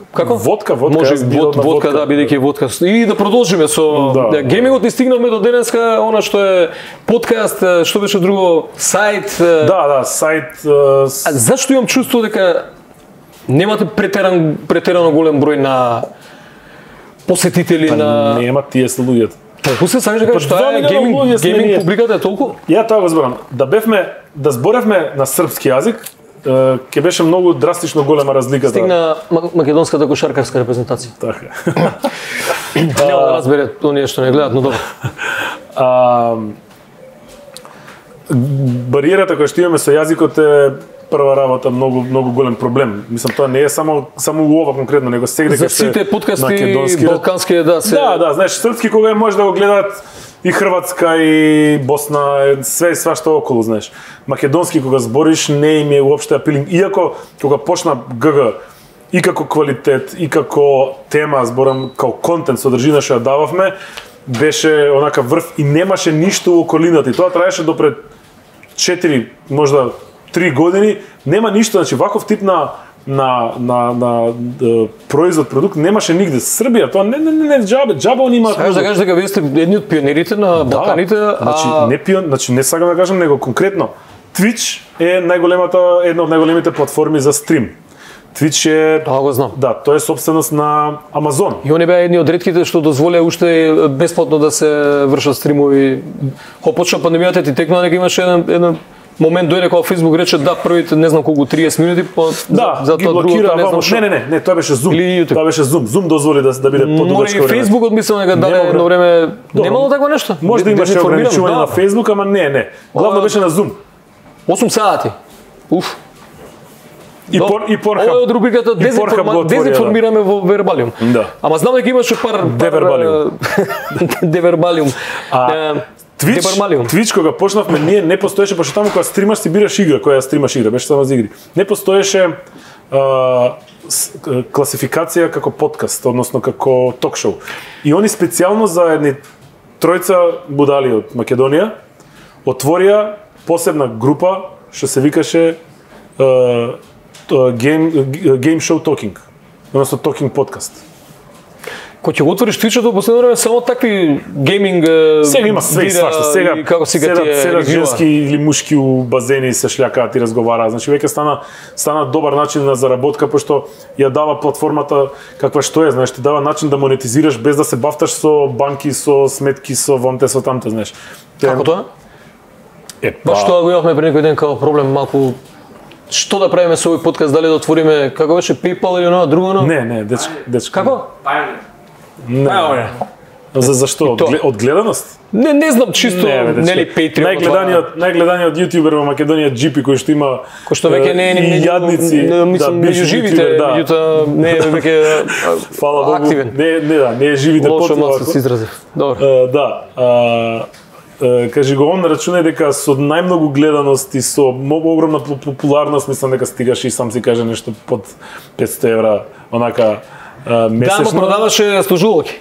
Како? Водка, може водка, да, бидејќи водка. И да продолжиме со геймингот и стигнавме до денеска, она што е подкаст, што беше друго, сајт. Да, сајт. Зашто имам чувство дека немате претерано голем број на посетители на Нема тие се луѓето. Толку се сакаш да кажеш што е гейминг публиката е толку? Ја тоа го зборам. Да зборевме на српски јазик, ќе беше многу драстично голема разликата. Стигна македонската кошаркарска репрезентација. Така. Нема да разбере оние што не гледат, но добро. Бариерата која што имаме со јазикот е прва работа многу голем проблем. Мислам тоа не е само у ова конкретно, него сегде за сите подкасти балкански да се Да, знаеш, српски кога може да го гледаат и Хрватска и Босна, све свашто околу, знаеш. Македонски кога збориш не им е уопште апилинг, иако кога почна ГГ и како квалитет и како тема, зборам како контент, содржина што ја дававме, беше онака врв и немаше ништо у околината и тоа траеше до пред 4, можда 3 години, нема ништо, значи ваков тип на производ, продукт немаше нигде. Србија, тоа не џабе они имаат. Сакаш да кажеш дека вие сте едни од пионерите на Балканите, значи не сакам да кажам, него конкретно Twitch е една од најголемите платформи за стрим. Twitch е Тоа го знам. Да, тоа е собственост на Amazon. И они беа едни од ретките што дозволеа уште бесплатно да се вршат стримови. Кога почна пандемијата ти текна дека имаше еден момент дојде кога Facebook рече да првите не знам колку 30 минути за тоа другото не знам што. Не, тоа беше Zoom. Тоа беше Zoom. Zoom дозволи да биде подугачко време. И Facebook одмислил дека даде едно време немало такво нешто. Може да имаше ограничување на Facebook, ама не. Главно беше на Zoom. 8 сати. Уф. И Pornhub. Ова е од рубриката дезинформираме во Вербалиум. Да. Ама знам дека имаше пар Девербалиум. Twitch кога почнавме ние не постоеше, пошто таму кога стримаш си бираш игра, која стримаш игра, беше само за игри. Не постоеше класификација како подкаст, односно како ток-шоу. И они специјално за едни тројца будали од Македонија отворија посебна група што се викаше Game Show Talking, односно Talking подкаст. Кога ќе го отвориш Twitch-от, последно време само такви гейминг сега има све и свашто. Сега како седат женски или мушки у базени се шљакаат и разговараат. Значи веќе стана добар начин на заработка, пошто ја дава платформата каква што е, знаеш, ти дава начин да монетизираш без да се бафташ со банки, со сметки, со вонте, со тамте, знаеш. Како тоа? Баш тоа го имавме пред некој ден како проблем малку. Што да правиме со овој подкаст, дали да отвориме како беше PayPal или оно друго? Не, дечко. Како? Не. Зашто? Од гледаност? Не знам, чисто нели Patreon. Најгледаниот јутјубер во Македонија Джипи кој што има кој што веќе не е ни јадници, мислам меѓу живите, меѓутоа не е веќе фала Богу, активен. Не е живите потоа. Лошо се изразив. Добро. Да. Кажи го он, рачунај дека со најмногу гледаност и со огромна популарност, мислам дека стигаше и сам си каже нешто под 500 евра, онака месечно. Да, ма продаваше служувалки.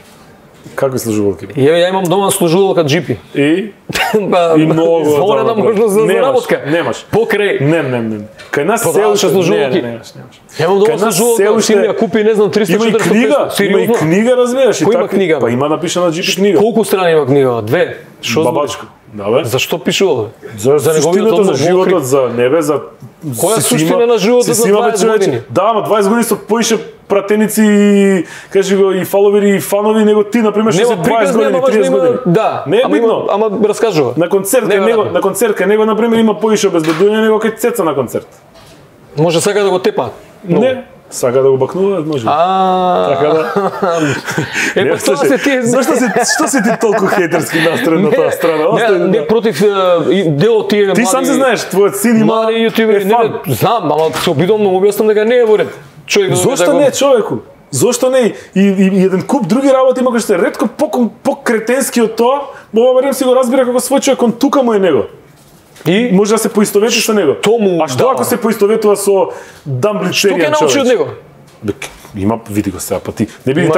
Какви служувалки? Ја имам дома служувалка Джипи. И многу зворена можност за заработка. Немаш. Покрај. Не. Кај нас се уште служувалки. Ја имам дома служувалка, си ја купи не знам 300-400. Има и книга, има и книга, разбираш, и така. Има книга. Па има напишана Джипи книга. Колку страни има книга? 2. Што бабачко? Да бе. Зашто пишува? За неговиот за животот, за небе, за која суштина на животот за 20 години? Да, ама 20 години со поише пратеници и кажи го и фаловери и фанови него ти на пример што се 20 години, 30 години. Да, не е битно. Ама раскажува. На концерт кај него на пример има поише обезбедување него кај Цеца на концерт. Може сака да го тепа? Не. Сака да го бакнуваат, може. Така да. Епа тоа се тие. Што си ти толку хејтерски настроен на таа страна? Не против дел од тие млади. Ти сам се знаеш, твојот син има јутубери, не знам, ама се обидувам да му објаснам дека не е во ред. Зошто не, човеку? Зошто не? И еден куп други работи има кои што е ретко по-кретенски од тоа, ова барем си го разбира како свој човек, он тука му е него. И може да се поистовети со него. А што ако се поистоветува со дамблицеријан човек? Што ќе научи од него? Има, види го сега, па ти не биди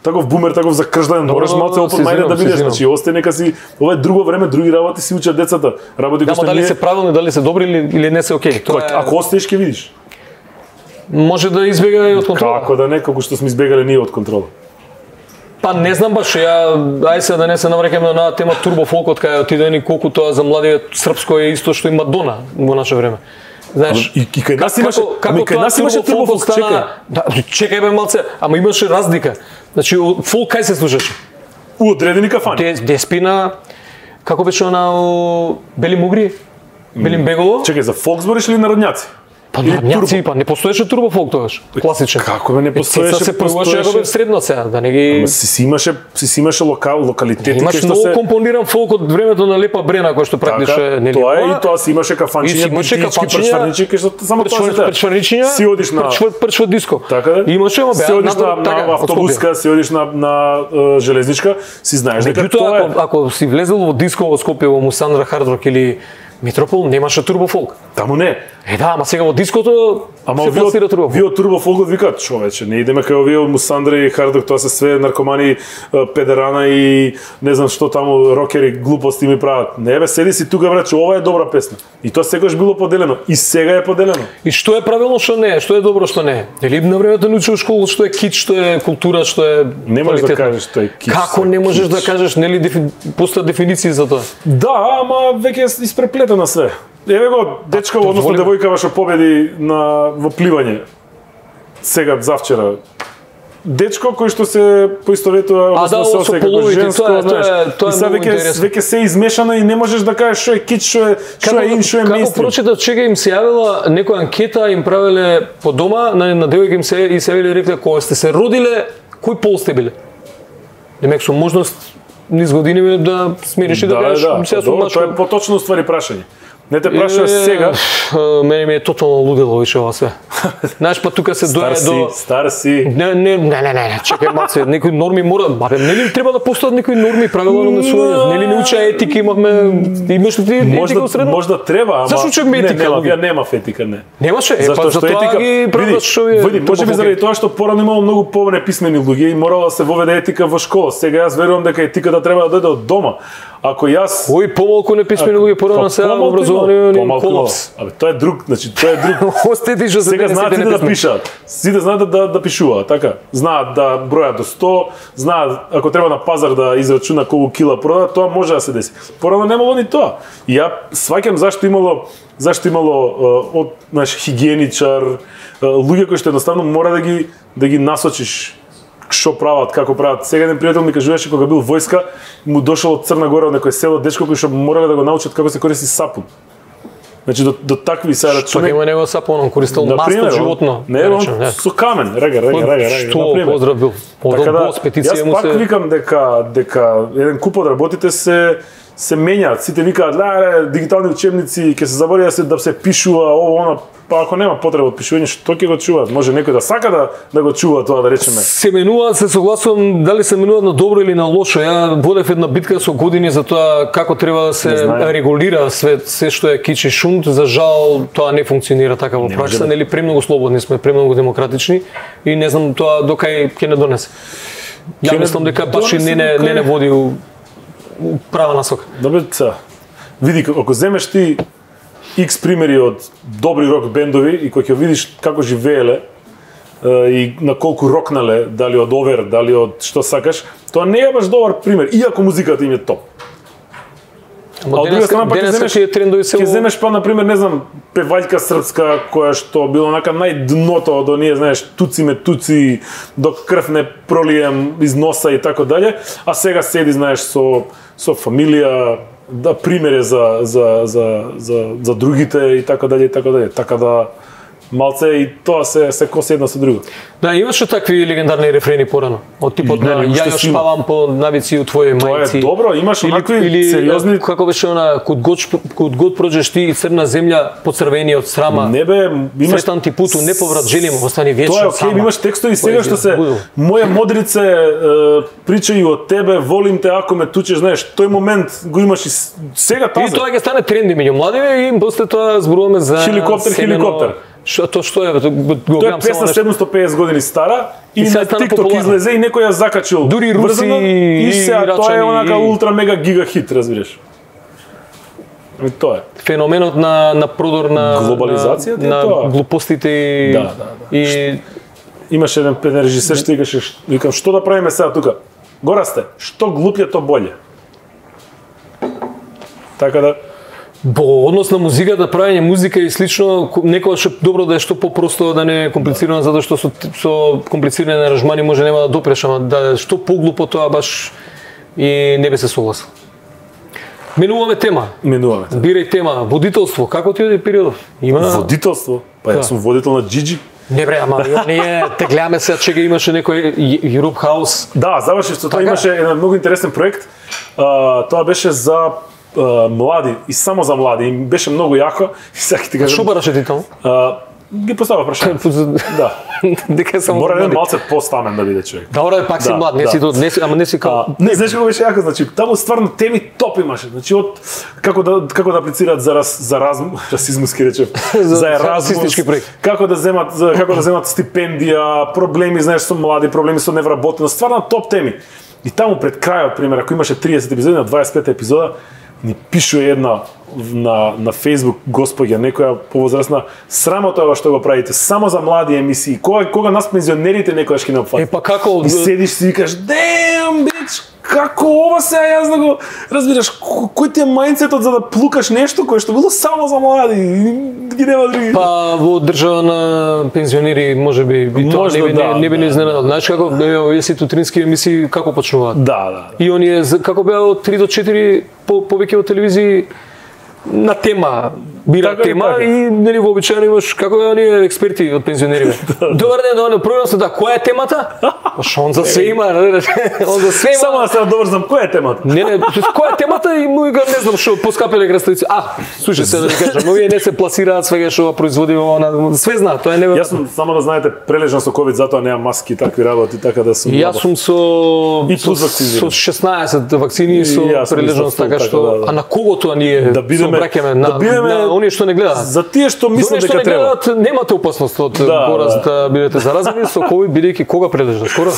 таков бумер, таков закржден, мораш малце опот мајде да бидеш, значи остај нека си, ова е друго време, други работи си учат децата. Работи кои што дали се правилни, дали се добри или не се окей. Ако остаеш ќе видиш. Може да избега и од контрола. Како да не, како што сме избегале ние од контрола. Па не знам баш, ај се да не се навраќаме на тема турбофолкот, кај отидени колку тоа за младиот српско е исто што и Мадона во наше време. Знаеш, и кај нас имаше, како кај нас имаше турбофолк, чекај. Да, чекај бе малце, ама имаше разлика. Значи фолк кај се слушаше? У одредени кафани. Деспина, како беше она Бели Мугри? Белим Беголо? Чекај, за фолк збориш или народњаци? Па народњаци, па не постоеше турбо фолк тогаш, класичен. Како бе не постоеше? Се постоеше како бе средно сега, да не ги... Си имаше локалитети имаш кај што многу се компониран фолк од времето на Лепа Брена кој што практише нели. Тоа е и тоа си имаше кафанчиња, пршварничи кај што само тоа се пршварничиња. Си одиш на пршва диско. Така да? Имаше ама си одиш на автобуска, си одиш на железничка, си знаеш дека тоа е. Ако си влезел во диско во Скопје во Мусандра Хард Рок или Метропол, немаше турбо фолк. Таму не. Да, ама сега во диското се пласира турбо фолк. Вие од турбо фолкот викаат, човече, не идеме кај овие од Мусандра и Хардок, тоа се све наркомани, педерана и не знам што таму рокери глупости ми прават. Не бе, седи си тука брат, ова е добра песна. И тоа секогаш било поделено, и сега е поделено. И што е правилно, што не е, што е добро, што не е. Нели на времето научиш школа што е кит, што е култура, што е не можеш да кажеш што е кит. Како не можеш да кажеш, нели постојат дефиниции за тоа? Да, ама веќе е испреплетено све. Еве го дечко, односно девојкава што победи во пливање. Сега завчера. Дечко кој што се поистоветува, односно се осеќа како женско, знаеш. Тоа е веќе се измешано и не можеш да кажеш што е кит, што е ин, што е мејнстрим. Како прочитав, чека им се јавила некоја анкета, им правеле по дома, на девојка им се јавиле и рекле кога сте се родиле, кој пол сте биле? Демек со можност низ години да смириш и да кажеш сега сум мачко. Тоа е поточно ствари прашање. Не те прашуваш сега. Мене ми е тотално лудело више ова све. Знаеш, па тука се дојде до Стар си. Не, чекај малце, некои норми мора, нели треба да постојат некои норми, правила на однесување. Нели не уча етика, имаш ли ти етика од средно? Можда треба, ама зашто учевме етика? Ја немав етика, не. Немаше? Па за тоа ги правиш што е. Може би заради тоа што порано имало многу неписмени луѓе и морало да се воведе етика во школа. Сега јас верувам дека етиката треба да дојде од дома. Ако јас помалку неписмени луѓе порано се образовани колапс. Абе тоа е друг, значи тоа е друг. Остети што сега знаат сите да пишат. Сите знаат да пишуваат, така. Знаат да бројат до 100, знаат ако треба на пазар да израчуна колку кила продаат, тоа може да се деси. Порано немало ни тоа. И ја сваќам зашто имало од наш хигиеничар, луѓе кои што едноставно мора да ги насочиш што прават, како прават. Сега еден пријател ми кажуваше кога бил војска, му дошол од Црна Гора од некој село дечко кој што морале да го научат како се користи сапун. Значи до такви се рачуне. Така има него сапун, он користел масло животно. Не, он со камен, рега. Што поздрав бил. Јас пак викам дека еден куп од работите се менјаат. Сите викаат, дигитални учебници, ќе се забори да се пишува ово, она. Па ако нема потреба од пишување, што ќе го чуваат? Може некој да сака да го чува тоа, да речеме. Се менуваат, се согласувам, дали се менуваат на добро или на лошо. Ја водев една битка со години за тоа како треба да се регулира се што е кич и шунт. За жал тоа не функционира така во пракса, нели премногу слободни сме, премногу демократични и не знам тоа докај ќе не донесе. Ја мислам дека баш и не води у права насока. Добре, види, ако земеш ти X примери од добри рок бендови и кој ќе видиш како живееле и на колку рокнале, дали од овер, дали од што сакаш, тоа не е баш добар пример, иако музиката им е топ. Ама ќе земеш па, например, не знам, певајка српска која што било онака најдното од оние, знаеш, туци, до крв не пролием из носа и така дале, а сега седи, знаеш, со фамилија, да примере за другите и така дале и така дале. Така да малце и тоа се коси една со друго. Да, имаше такви легендарни рефрени порано, од типот на ја шпавам по навици у твоје мајци. Тоа е добро, имаш онакви сериозни. Како беше она код год проđеш ти црна земја поцрвени од срама. Не бе, имаш сретан ти путу, не поврат желим, остани вечно сама. Тоа е окей, имаш текстови сега што се моја модрице причај од тебе, волим те ако ме тучеш, знаеш, тој момент го имаш и сега таза. И тоа ќе стане тренди меѓу младиве и после тоа зборуваме за хеликоптер. Што е? Тоа е песна 750 години стара и на TikTok излезе и некој ја закачил. Дури руси и тоа е онака ултра мега гига хит, разбираш. Тоа е. Феноменот на продор на глобализацијата на глупостите и имаше еден режисер што викам што да правиме сега тука? Гора сте, што глупље то боле. Така да Во однос на музиката, правење музика и слично, некогаш е добро да е што попросто, да не е комплицирано, затоа што со комплицирани аранжмани може нема да допреш, ама да е што поглупо тоа баш и не би се согласил. Менуваме тема. Бирај тема. Водителство. Како ти оди периодов? Има водителство? Па јас сум водител на Джиджи. Не бре, ама ние те гледаме сега, чега имаше некој Europe House. Да, завршив со тоа, имаше еден многу интересен проект. Тоа беше за млади и само за млади. И беше многу јако. Сакам ти кажам. Што бараше ти тоа? Ги поставя прашање. Да. Дека само мора да малце постамен да биде човек. Добро, пак си млад, ама не си као. Не, знаеш како беше јако, значи таму стварно теми топ имаше. Значи од како да аплицираат за расизмус ки речев, за Еразмус, како да земат стипендија, проблеми, знаеш, со млади, проблеми со невработеност, стварно топ теми. И таму пред крајот, пример, ако имаше 30 епизоди, на 25 епизода ни пишува една на Facebook господја, некоја повозрасна, срамота ова што го правите, само за млади емисии. Кога нас пензионерите некојаш ќе не опфатат. Па како и седиш си и викаш, "Damn, bitch, како ова сега јас да го разбираш, кој ти е мајндсетот за да плукаш нешто кое што било само за млади, ги нема други." Па во држава на пензионери можеби и тоа не би не изненадал. Знаеш како овие утрински емисии како почнуваат? Да. И оние како беа од 3 до 4 повеќе од телевизии на тема, бира тема и нели вообичаено имаш како оние експерти од пензионери. Добар ден, програм се да, која е темата? Што он за се има, он за се има. Само да се добро знам која е темата. Не, која е темата и му не знам што поскапеле краставици. Слушај се да ви кажам, овие не се пласираат свега што производи она, све знаат, тоа е неверојатно. Јас сум само да знаете прележан со ковид, затоа немам маски и такви работи, така да сум. Јас сум со 16 вакцини со прележаност, така што а на кого тоа ние собраќаме на оние што не гледаат. За тие што мислат дека треба. Немате опасност од пораз да бидете заразени со ковид, бидејќи кога прележа? Скоро?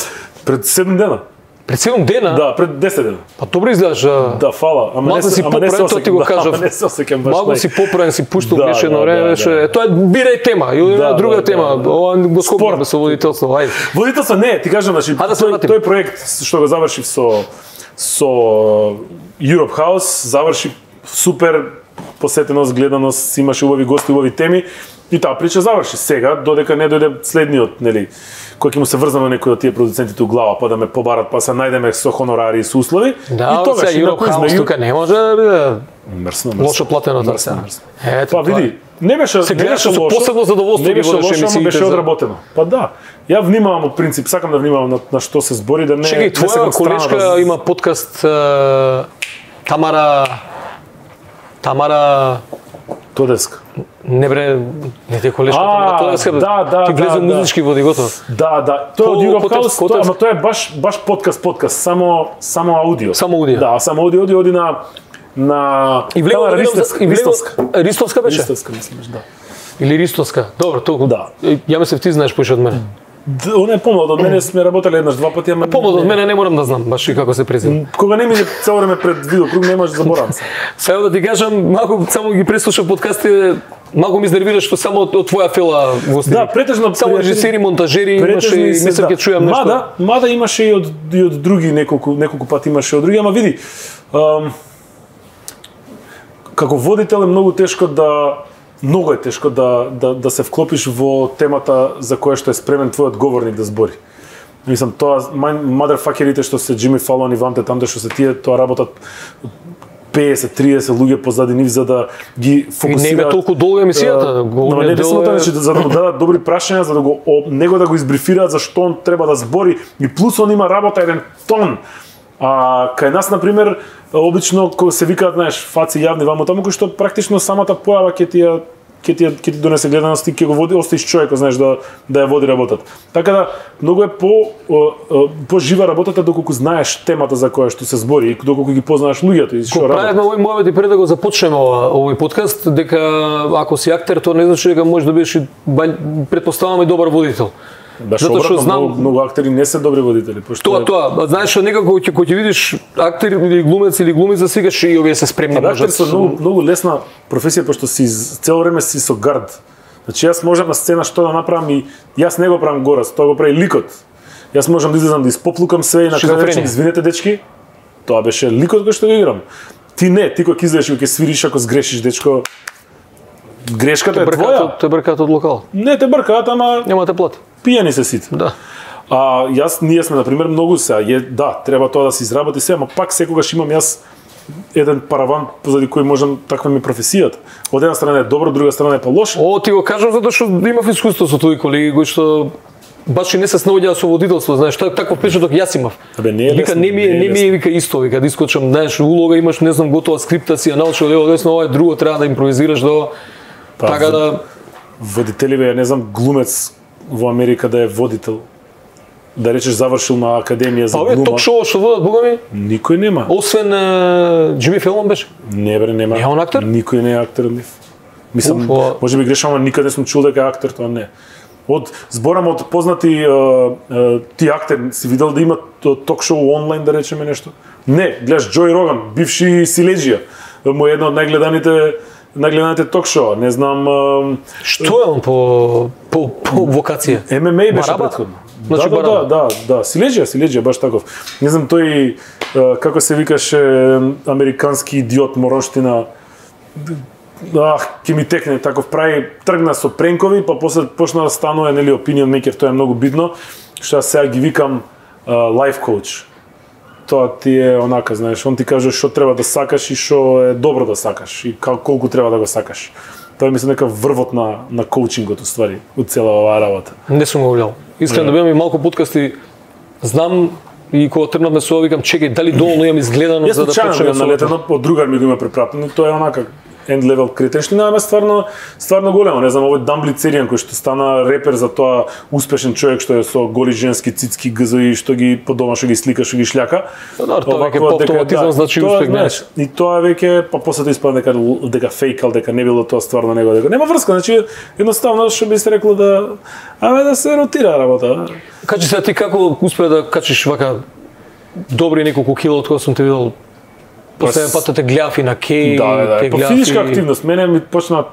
Пред 7 дена. Пред 7 дена? Да, пред 10 дена. Па добро изгледаш. Да, фала. Ама не се ти го кажав. Не се осеќам баш. Малку си поправен, си пуштал беше едно време, беше тоа бирај тема, или друга тема. Ова го скопаме со водителство. Ајде. Водителство не, ти кажам, значи тој проект што го завршив со Europe House, заврши супер, посетеност, гледаност, имаше убави гости, убави теми и таа прича заврши. Сега додека не дојде следниот, нели, кој ќе му се врзаме некој од тие продуцентите у глава, па да ме побарат, па се најдеме со хонорари и со услови. Да, и тогаш Europe House тука не може да биде мрсно. Лошо платено тоа сега. Па види, не беше лошо. Со посебно задоволство не беше лошо, ама беше одработено. Па да. Ја внимавам од принцип, сакам да внимавам на што се збори, да не се твоја колешка има подкаст Тамара Тодеска. Не бре, не те колешка Тамара Тодеска. Да. Ти влезе музички води готово. Да. Тоа од Europe House, ама тоа е баш подкаст, само аудио. Само аудио. Да, само аудио оди на и влезе Ристовска беше. Ристовска мислиш, да. Или Ристовска. Добро, толку. Да. Ја мислев ти знаеш поише од мене. Она е помлад од мене, сме работеле еднаш два пати, ама помлад од мене не морам да знам баш и како се презира. Кога не мине цело време пред видеокруг, не можеш да заборавам се. Сега да ти кажам, малку само ги преслушав подкастите, малку ми изнервира што само од твоја фела го снима. Да, претежно само режисери, монтажери, имаше и мислам ќе чујам нешто. Мада имаше и од други неколку пати имаше од други, ама види, како водител е многу тешко да се вклопиш во темата за која што е спремен твојот говорник да збори. Мислам, тоа motherfuckerите што се Джими Фалон и Ванте тамде што се тие, тоа работат 50-30 луѓе позади нив за да ги фокусираат. И не е толку долга емисијата. Не само тоа, за да му дадат добри прашања, за да него да го избрифираат за што он треба да збори и плюс он има работа еден тон. Кај нас, например, обично кога се викаат, знаеш, фаци јавни ваму таму, кој што практично самата појава ќе ти донесе гледаност и ќе го води, остаиш човекот, знаеш, да ја води работата. Така да, многу е по-жива работата доколку знаеш темата за која што се збори и доколку ги познаеш луѓето и што работат. Правевме овој муавет и пред да го започнеме овој подкаст, дека ако си актер, тоа не значи дека можеш да бидеш, претпоставаме, добар водител. Затоа што знам многу актери не се добри водители, пошто тоа, знаеш што некако кога ќе видиш актер или глумец или глумица свикаш и овие се спремни можат. Актер со многу лесна професија пошто си цело време си со гард. Значи јас можам на сцена што да направам и јас не го правам горас, тоа го прави ликот. Јас можам да излезам да испоплукам све и на крај речем извинете дечки. Тоа беше ликот кој што го играм. Ти не, ти кога ќе излезеш и ќе свириш ако сгрешиш, дечко, грешката е твоја. Те бркаат од локал. Не те бркаат, ама Нема те плат. пијани се сите. Да. Ние сме, например, многу да, треба тоа да се изработи се, ама пак секогаш имам јас еден параван позади кој можам, таква ми професијата. Од една страна е добро, од друга страна е лошо. Ти го кажам затоа што имав искуство со тој колеги кои што баш и не се снаоѓаа со водителство, знаеш, таков печаток јас имав. Не е вика лесно, не ми е вика исто, вика да искочам, знаеш, улога имаш, не знам, готова скрипта си, ја научил лево десно, ова е друго, треба да импровизираш до така да водителиве, не знам, глумец во Америка да е водител. Да речеш завршил на академија за глума. ток-шоу што водат, бога ми? Никој нема. Освен Џими Фелон беше. Не бре, нема. Не е он актер? Никој не е актер од нив. Мислам, може би грешам, ама никаде не сум чул дека е актер, тоа не. Зборам од познати ти актер, си видел да има ток-шоу онлайн, да речеме нешто? Не, гледаш Џој Роган, бивши силеџија, му е едно од најгледаните ток-шоу, не знам... Што е он по вокација? ММА беше претходно. Значи, да, силеџија, баш таков. Не знам, тој, како се викаше, американски идиот, моронштина, ќе ми текне, таков тргна со пренкови, па после почна да станува, нели, opinion maker, тоа е многу битно, што јас сега ги викам life coach. Тоа ти е онака, знаеш, он ти каже што треба да сакаш и што е добро да сакаш и колку треба да го сакаш. Тоа е мислам нека врвот на коучингот уствари, од цела оваа работа. Не сум го гледал. Искрено да бидам и малку подкасти, знам и кога тргнавме со ова викам чекај дали доволно имам изгледано за да почнеме на летено, од другар ми го има препратено, тоа е онака end level кретенштина, ама стварно големо, не знам, овој Дамбли Церијан кој што стана репер за тоа успешен човек што е со голи женски цицки гзои што ги по дома што ги слика, што ги шљака. Да, тоа веќе по автоматизам значи успех, знаеш. И тоа веќе па после тоа испадна дека фейкал, дека не било тоа стварно него, дека нема врска, значи едноставно што би се рекло да се ротира работа. Кажи се ти како успеа да качиш вака добри неколку кило од кога сум те видел. Последен пат те гледав и на Кеј, те гледав. По физичка активност, мене ми почна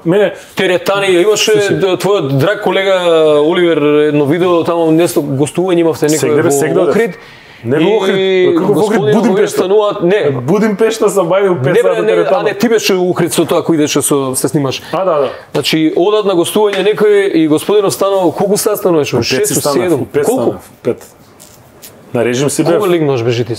теретани, имаше твојот драг колега Оливер едно видео таму нешто гостување имавте некој во Охрид. Не во Охрид, како во Охрид Будимпешта. Не, Будимпешта сам бајде 5 сати теретана. А не, ти беше у Охрид со тоа кој идеше се снимаш. Да. Значи одат на гостување некој и господинот станал колку сат стануваш? 6-7. Колку? 5. На режим си бев. Кога лигнуваш беше ти?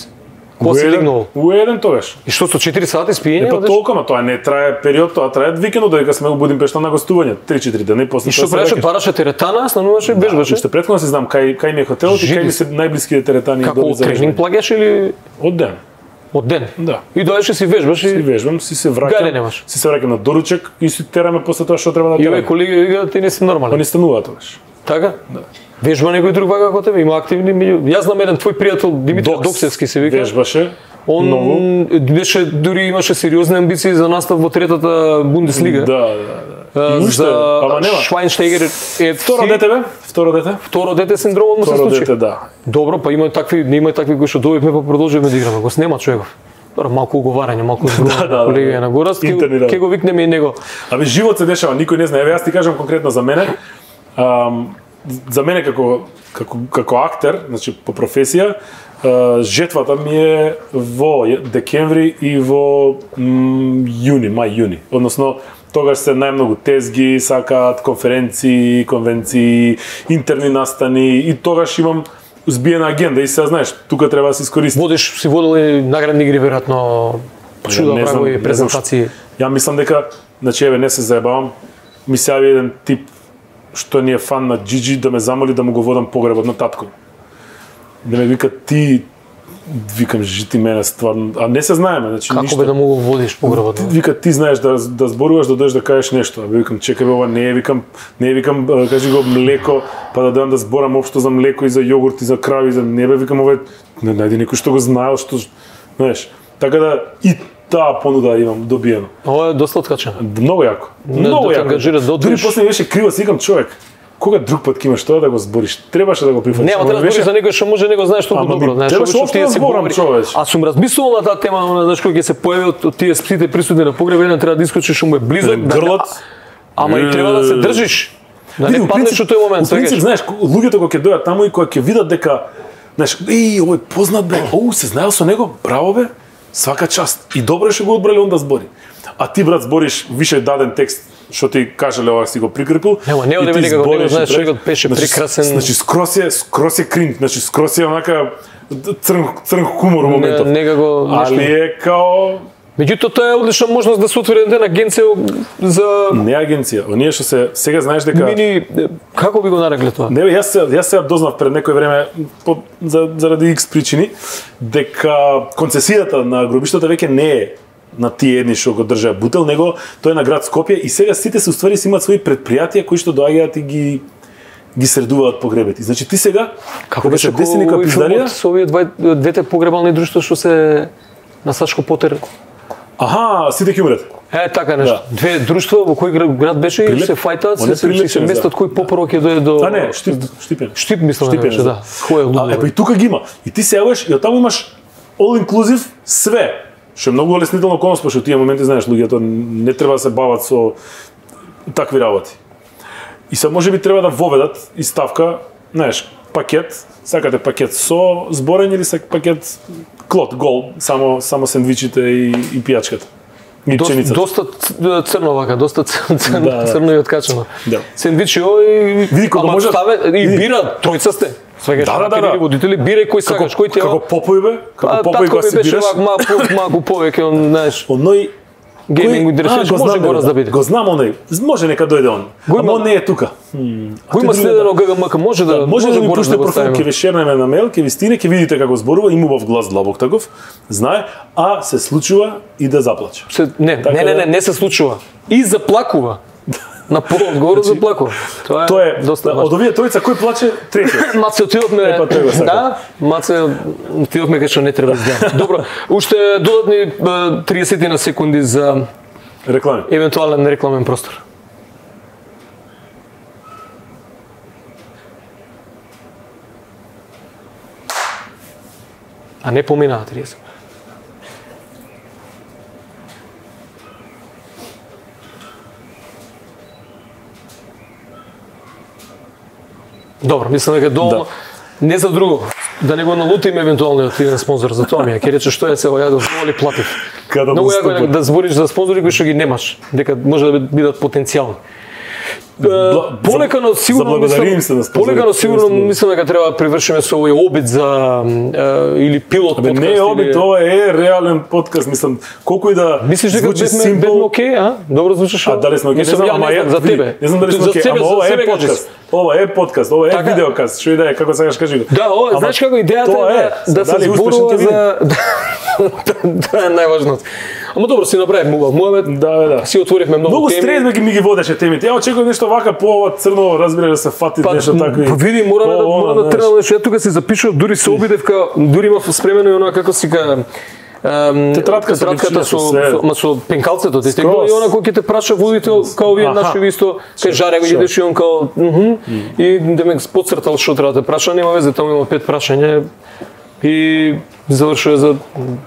Кога си лигнувал? Уеден тогаш. И што со 4 сати спиење? Па толку, ама тоа не трае период, тоа трае викендот додека сме у Будимпешта на гостување, 3-4 дена и после тоа. И што правеше, бараше теретана, стануваше, бежбаше? Уште претходно си знам кај ми е хотелот и кај ми се најблиските теретани до за тренинг плагаш или од ден? Од ден. Да. И доаѓаш си вежбаш и си вежбам, си се враќам на доручек и си тераме после тоа што треба да тераме. И овој колеги вика ти не си нормален. Они стануваат тогаш. Така? Да. Вежба некој друг вака како тебе, има активни меѓу. Јас знам еден твој пријател Димитар Доксевски се вика. Вежбаше. Он беше дури имаше сериозни амбиции за настап во третата Бундеслига. Да. За Швајнштегер е Второ дете синдромот му се случи. Второ дете, да. Добро, па има такви кои што добивме па продолжиме да играме. Го снема човеков. Добро, малку уговарање, малку зборување, колега на Гораст, ќе го викнеме и него. Абе живот се дешава, никој не знае. Еве јас ти кажам конкретно за мене. За мене како актер, значи по професија, жетвата ми е во декември и во мај-јуни. Односно, тогаш се најмногу тезги, сакаат конференции, конвенции, интерни настани и тогаш имам збиена агенда и сега знаеш, тука треба да се искористи. Си водел и наградни игри веројатно, чуда прави презентации. Ја мислам дека, значи еве не се заебавам, ми се јави еден тип што ни е фан на Джиджи да ме замоли да му го водам погребот на татко. Да ме вика ти, викам жити мене стварно, а не се знаеме, значи како ништо. Како бе да му го водиш погребот? Вика ти знаеш да зборуваш, да дојдеш да кажеш нешто. А викам чекај бе, ова не е, викам кажи го млеко, па да дојдам да зборам општо за млеко и за јогурт и за крави и за не бе, викам ова не најди некој што го знаел, што знаеш. Така да и таа понуда имам добиено. Ова е доста откачено. Многу јако. Многу јако. Дури после беше криво, си викам човек. Кога друг пат ќе имаш тоа да го збориш? Требаше да го прифатиш. Не, треба да збориш за некој што може него знаеш толку добро, знаеш, што ти се зборам човече. А сум размислувал на таа тема, знаеш кога ќе се појави од тие сите присутни на погреб, еден треба да искочиш што му е близок, грлот. Ама и треба да се држиш. Да не паднеш во тој момент, во принцип, знаеш, луѓето кога ќе дојдат таму и кога ќе видат дека, знаеш, овој познат бе, се знаел со него, браво бе. Свака част. И добро што го одбрале он да збори. А ти, брат, збориш више даден текст што ти кажале ова си го прикрепил. Нема, не оде некако, него знаеш, човекот беше прекрасен. Значи, скрос е кринг, значи, скрос е онака црн хумор во моментов. Некако, али е као... Меѓутоа, тоа е одлична можност да се отвори една агенција за... Не агенција, оние што се... Сега знаеш дека... Како би го нарекле тоа? Не, јас сега дознав пред некој време, заради X причини, дека концесијата на гробиштата веќе не е на тие едни што го држаат бутел, него тоа е на град Скопје и сега сите се уствари си имаат своји предпријатија кои што доаѓаат и ги средуваат погребите. Значи ти сега како беше деси нека пиздарија со овие двете погребални друштва што се на Сашко Потер? Аха, сите ќе умрат. Така нешто. Да. Две друштва во кој град беше и се фајтаат, се местат кој попрво ќе дојде до... не, Штипен. Штип мислам дека беше, да. Кој е луѓе. И тука ги има. И ти се јаваш и оттаму имаш all inclusive све. Што е многу олеснително околност, пошто тие моменти знаеш луѓето не треба да се бават со такви работи. И се можеби треба да воведат и ставка, знаеш, пакет, сакате пакет со зборење или пакет клот, гол, само сендвичите и пијачката. И пченицата. Доста црно вака, доста црно и откачено. Да. Сендвичи и види кога може и бира, тројца сте. Свегаш да. Водители, бирај кој сакаш, кој ти е. Како Попој бе, како Попој кога се бираш. Малку повеќе, знаеш. Оној гейминг интересуваш, може гораз да биде. Го знам оној, може нека дојде он. Ама он не е тука. Кој има следено ГГМК, може да ми пушти профил, ќе ви шернеме на мејл, ќе ви стине, ќе видите како зборува, има убав глас длабок таков, знае, а се случува и да заплаче. Не се случува. И заплакува. На полот горе заплакува. Тоа е доста важно. Од овие тројца кој плаче? Третиот. Маце отидовме. Да, Маце отидовме кај што не треба да изгледа. Добро, уште додатни 30 на секунди за реклами. Евентуален рекламен простор. А не поминаа 30. Добро, мислам дека доволно. Не за друго, да не го налутиме евентуалниот иден спонзор за тоа ми. Ќе рече што е се ја дозволи платив. Многу јако да збориш за спонзори кои што ги немаш, дека може да бидат потенцијални. Полекано сигурно мислам дека треба да привршиме со овој обид за или пилот подкаст. Не е обид, ова е реален подкаст, мислам, колку и да звучи симпл. Окей, а? Добро звучиш. А дали сме окей? За тебе. Не знам дали сме окей, ама ова е подкаст. Ова е подкаст, ова е видеокаст. Што идеја, како сакаш кажи го. Да, ова, знаеш како идејата е да се зборува за тоа е најважното. Ама добро, си направивме муавет. Да. Си отворивме многу теми. Многу стрес ми ги водеше темите. Ја очекував нешто вака по ова црно, разбира да се фати нешто такво. Па види, мора да тренам нешто. Ја тука си запишав, дури се обидевка, дури имав спремено и она како си ка тетратката со пенкалцето, и она кој ќе те праша водител, као вие наши исто, кај жаре го идеш и он као и да ме подцртал што треба да те праша, нема везе, таму има 5 прашања и завршува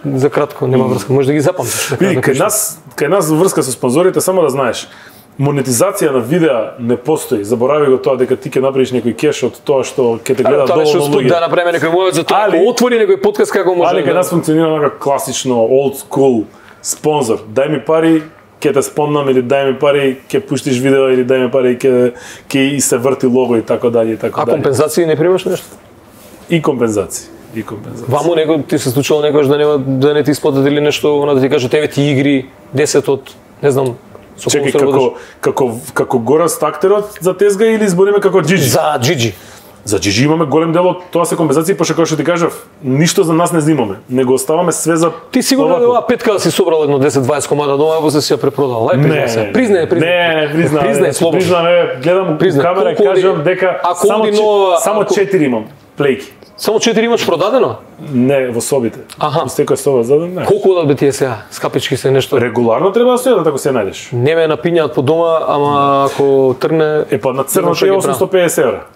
за кратко, нема врска, може да ги запамтиш. Види, кај нас врска со спонзорите, само да знаеш, монетизација на видеа не постои. Заборави го тоа дека ти ќе направиш некој кеш од тоа што ќе те гледа доволно луѓе. Да направиме некој муавет за тоа, ако отвори некој подкаст како може. Али кај нас функционира нека класично old school спонзор. Дај ми пари, ќе те спомнам, или дај ми пари, ќе пуштиш видео, или дај ми пари, ќе и се врти лого и така дале и така дале. А компензации не примаш нешто? И компензации. Ваму некој ти се случило некојаш да не ти исплатат или нешто, она да ти кажат еве ти игри 10 од не знам. Чекај, како Гораст актерот за тезга или збориме како Джиджи? За Джиджи. За Джиджи имаме голем дел од тоа се компензации, пошто како што ти кажав, ништо за нас не знимаме. Не го оставаме све за Ти сигурно оваа петка да си собрал едно 10-20 комада дома, после си ја препродал. Признај, слободно. Признаме, гледам камера, кажам дека само 4 имам плејки. Само 4 имаш продадено? Не, во собите. Секоја соба зададен, не. Колку одат бе тие сега? Скапички се нешто? Регуларно треба да стојат, ако се најдеш. Не ме напињаат по дома, ама ако тргне... На црно е 850 евра.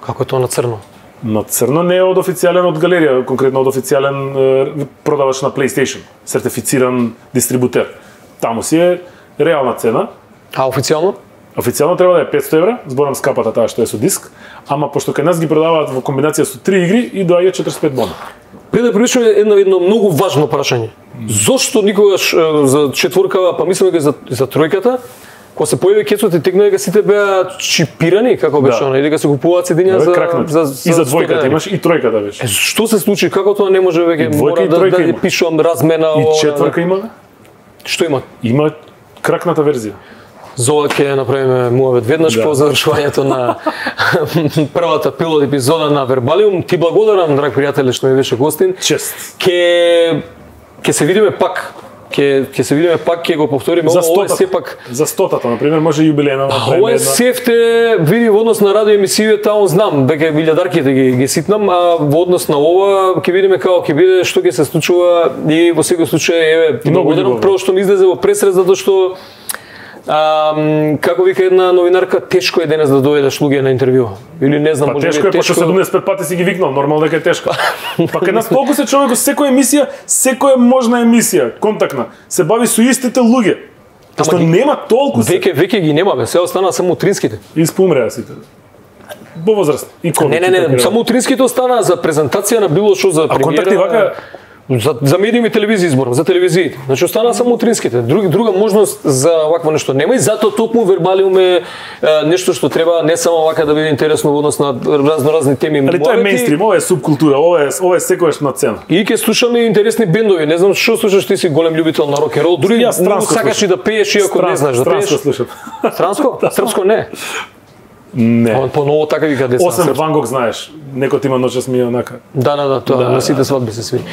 Како е тоа на црно? На црно не е од официјален од галерија, конкретно од официјален продавач на PlayStation, сертифициран дистрибутер. Таму си е реална цена. А официјално? Официјално треба да е 500 евра, зборам скапата таа што е со диск, ама пошто кај нас ги продаваат во комбинација со 3 игри и доаѓа 45 бона. Пред да приличаме едно многу важно прашање. Зошто никогаш за четворкава, па мислам дека за тројката, кога се појави кецот и текна дека сите беа чипирани, како беше она, и дека се купуваат седиња за и за двојката имаш и тројката беше. Што се случи? Како тоа не може веќе мора да пишувам размена и четворка има? Што има? Има кракната верзија. За ова ќе направиме муавет веднаш по завршувањето на првата пилот епизода на Вербалиум. Ти благодарам, драг пријателе, што ми беше гостин. Чест. Ќе се видиме пак. Ќе се видиме пак, ќе го повториме. Ова е сепак за 100-тата, на пример, може јубилејна. Ова е сефте види во однос на радио емисијата, он знам дека илјадарките ги ситнам, а во однос на ова ќе видиме како ќе биде, што ќе се случува и во секој случај еве благодарам прво што ми излезе во пресрез затоа што како вика една новинарка, тешко е денес да дојдеш луѓе на интервју. Или не знам, може тешко е, пошто 75 пати си ги викнал, нормално дека е тешко. Па кај нас толку се човек, секоја емисија, секоја можна емисија, контактна, се бави со истите луѓе. Што нема толку се. Веќе ги нема, бе, се остана само утринските. Испумреа сите. Во возраст и ковид. Не, само утринските остана за презентација на било што за премиера. А контакти вака за медиуми и телевизија изборам, за телевизиите. Значи остана само утринските. Друга можност за вакво нешто нема и затоа токму Вербалиум е нешто што треба не само вака да биде интересно во однос на разноразни теми. Али тоа е мејнстрим, ова е субкултура, ова е секогаш на цена. И ќе слушаме интересни бендови. Не знам што слушаш, ти си голем љубител на рок н рол, дури многу сакаш и да пееш иако не знаеш да пееш. Странско слушам. Странско? Српско не. Не. Поново така вика деца. Осем Ван Гог знаеш. Некој има ноќас ми онака. Да, тоа на сите свадби се свири.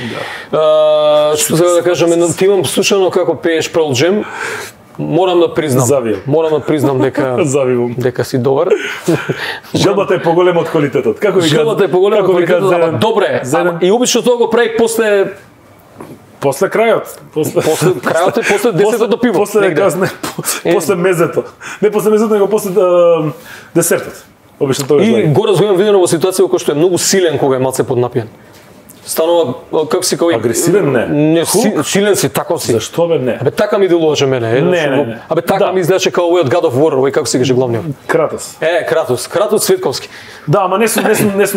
Што сега да кажеме, ти имам слушано како пееш Pearl Jam. Морам да признам дека си добар. Желбата е поголема од квалитетот. Како ви Желбата е поголема од квалитетот, ама добре. И обично тоа го прави после крајот. После после 10-то пиво. После мезето. Не после мезето, него после десертот. Обично тоа и го разумам видено во ситуација во која што е многу силен кога е малце поднапиен. Станува како си кој агресивен не силен си, тако си. Зашто бе не? Абе така ми делуваше мене. Не. Абе така ми изгледаше како овој од God of War, овој како се каже главниот. Кратос. Кратос Светковски. Да, ама не сум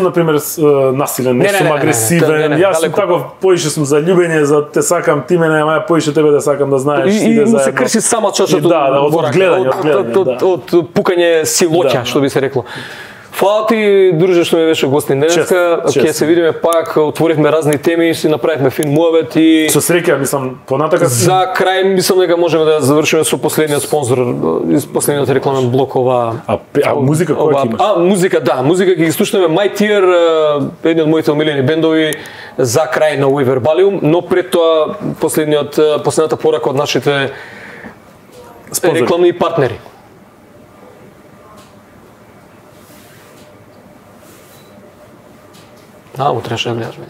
на пример насилен, не сум агресивен. Јас сум таков, поише сум за љубење, за те сакам ти мене, ама ја поише тебе да сакам да знаеш и да се крши сама чашата од гледање, од пукање силоќа, што би се рекло. Фала ти, друже, што ми беше гостин денеска. Ќе се видиме пак, отворивме разни теми, си направивме фин муавет и со среќа, мислам, понатака за крај мислам дека можеме да завршиме со последниот спонзор, последниот рекламен блок ова. А музика која имаш? Музика ќе ги слушнеме My Tier, еден од моите омилени бендови за крај на овој Вербалиум, но пред тоа последната порака од нашите рекламни партнери. Утреш да гледаш, бе.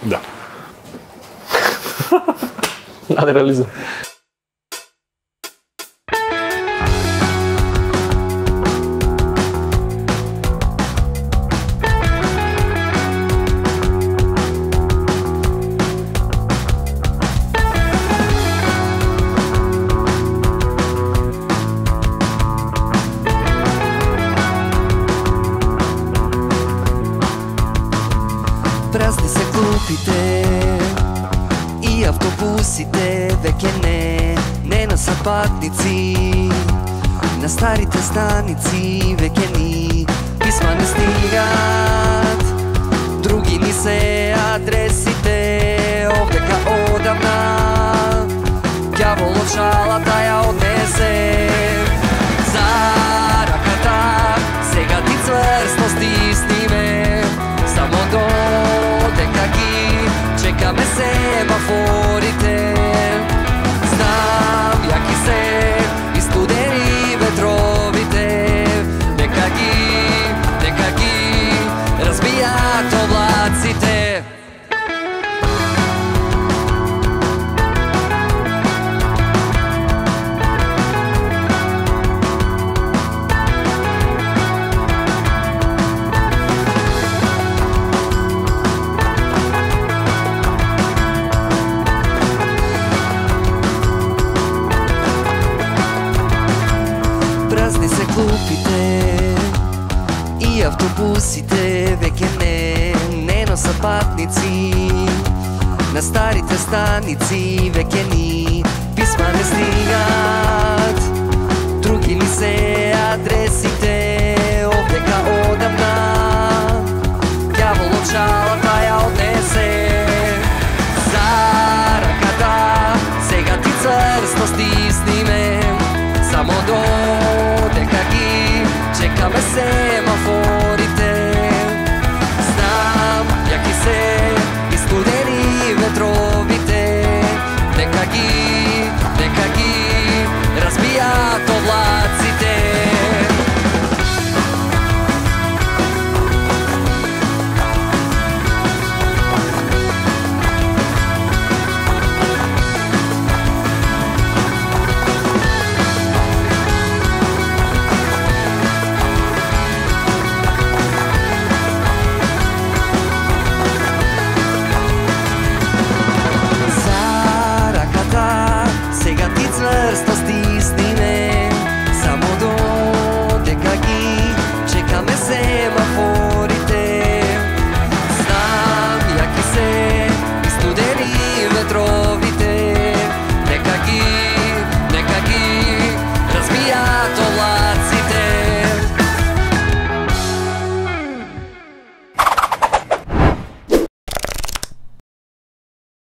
Да. Надреализам. Празни се клупите и автобусите, веќе не на сапатници. На старите станици веќе ни писма не стигат, други ни се адресите, овдека одамна ѓаволот шалата ја однесе. За раката сега ти цврсто стисни ме, само додека ги чекаме семафорите. Знам јаки се и студени ветровите, нека ги разбијат облаците. Автобусите веќе не носат патници, на старите станици веќе ни писма не стигат. Други ли се адресите, овдека одамна ѓаволот шалата ја однесе. За раката сега ти црсто стисни ме, само додека ги чекаме семафорите. Знам јаки се и студени ветровите, нека ги разбијат облаците. Црсто стисни ме, само додека ги чекаме семафорите. Знам јаки се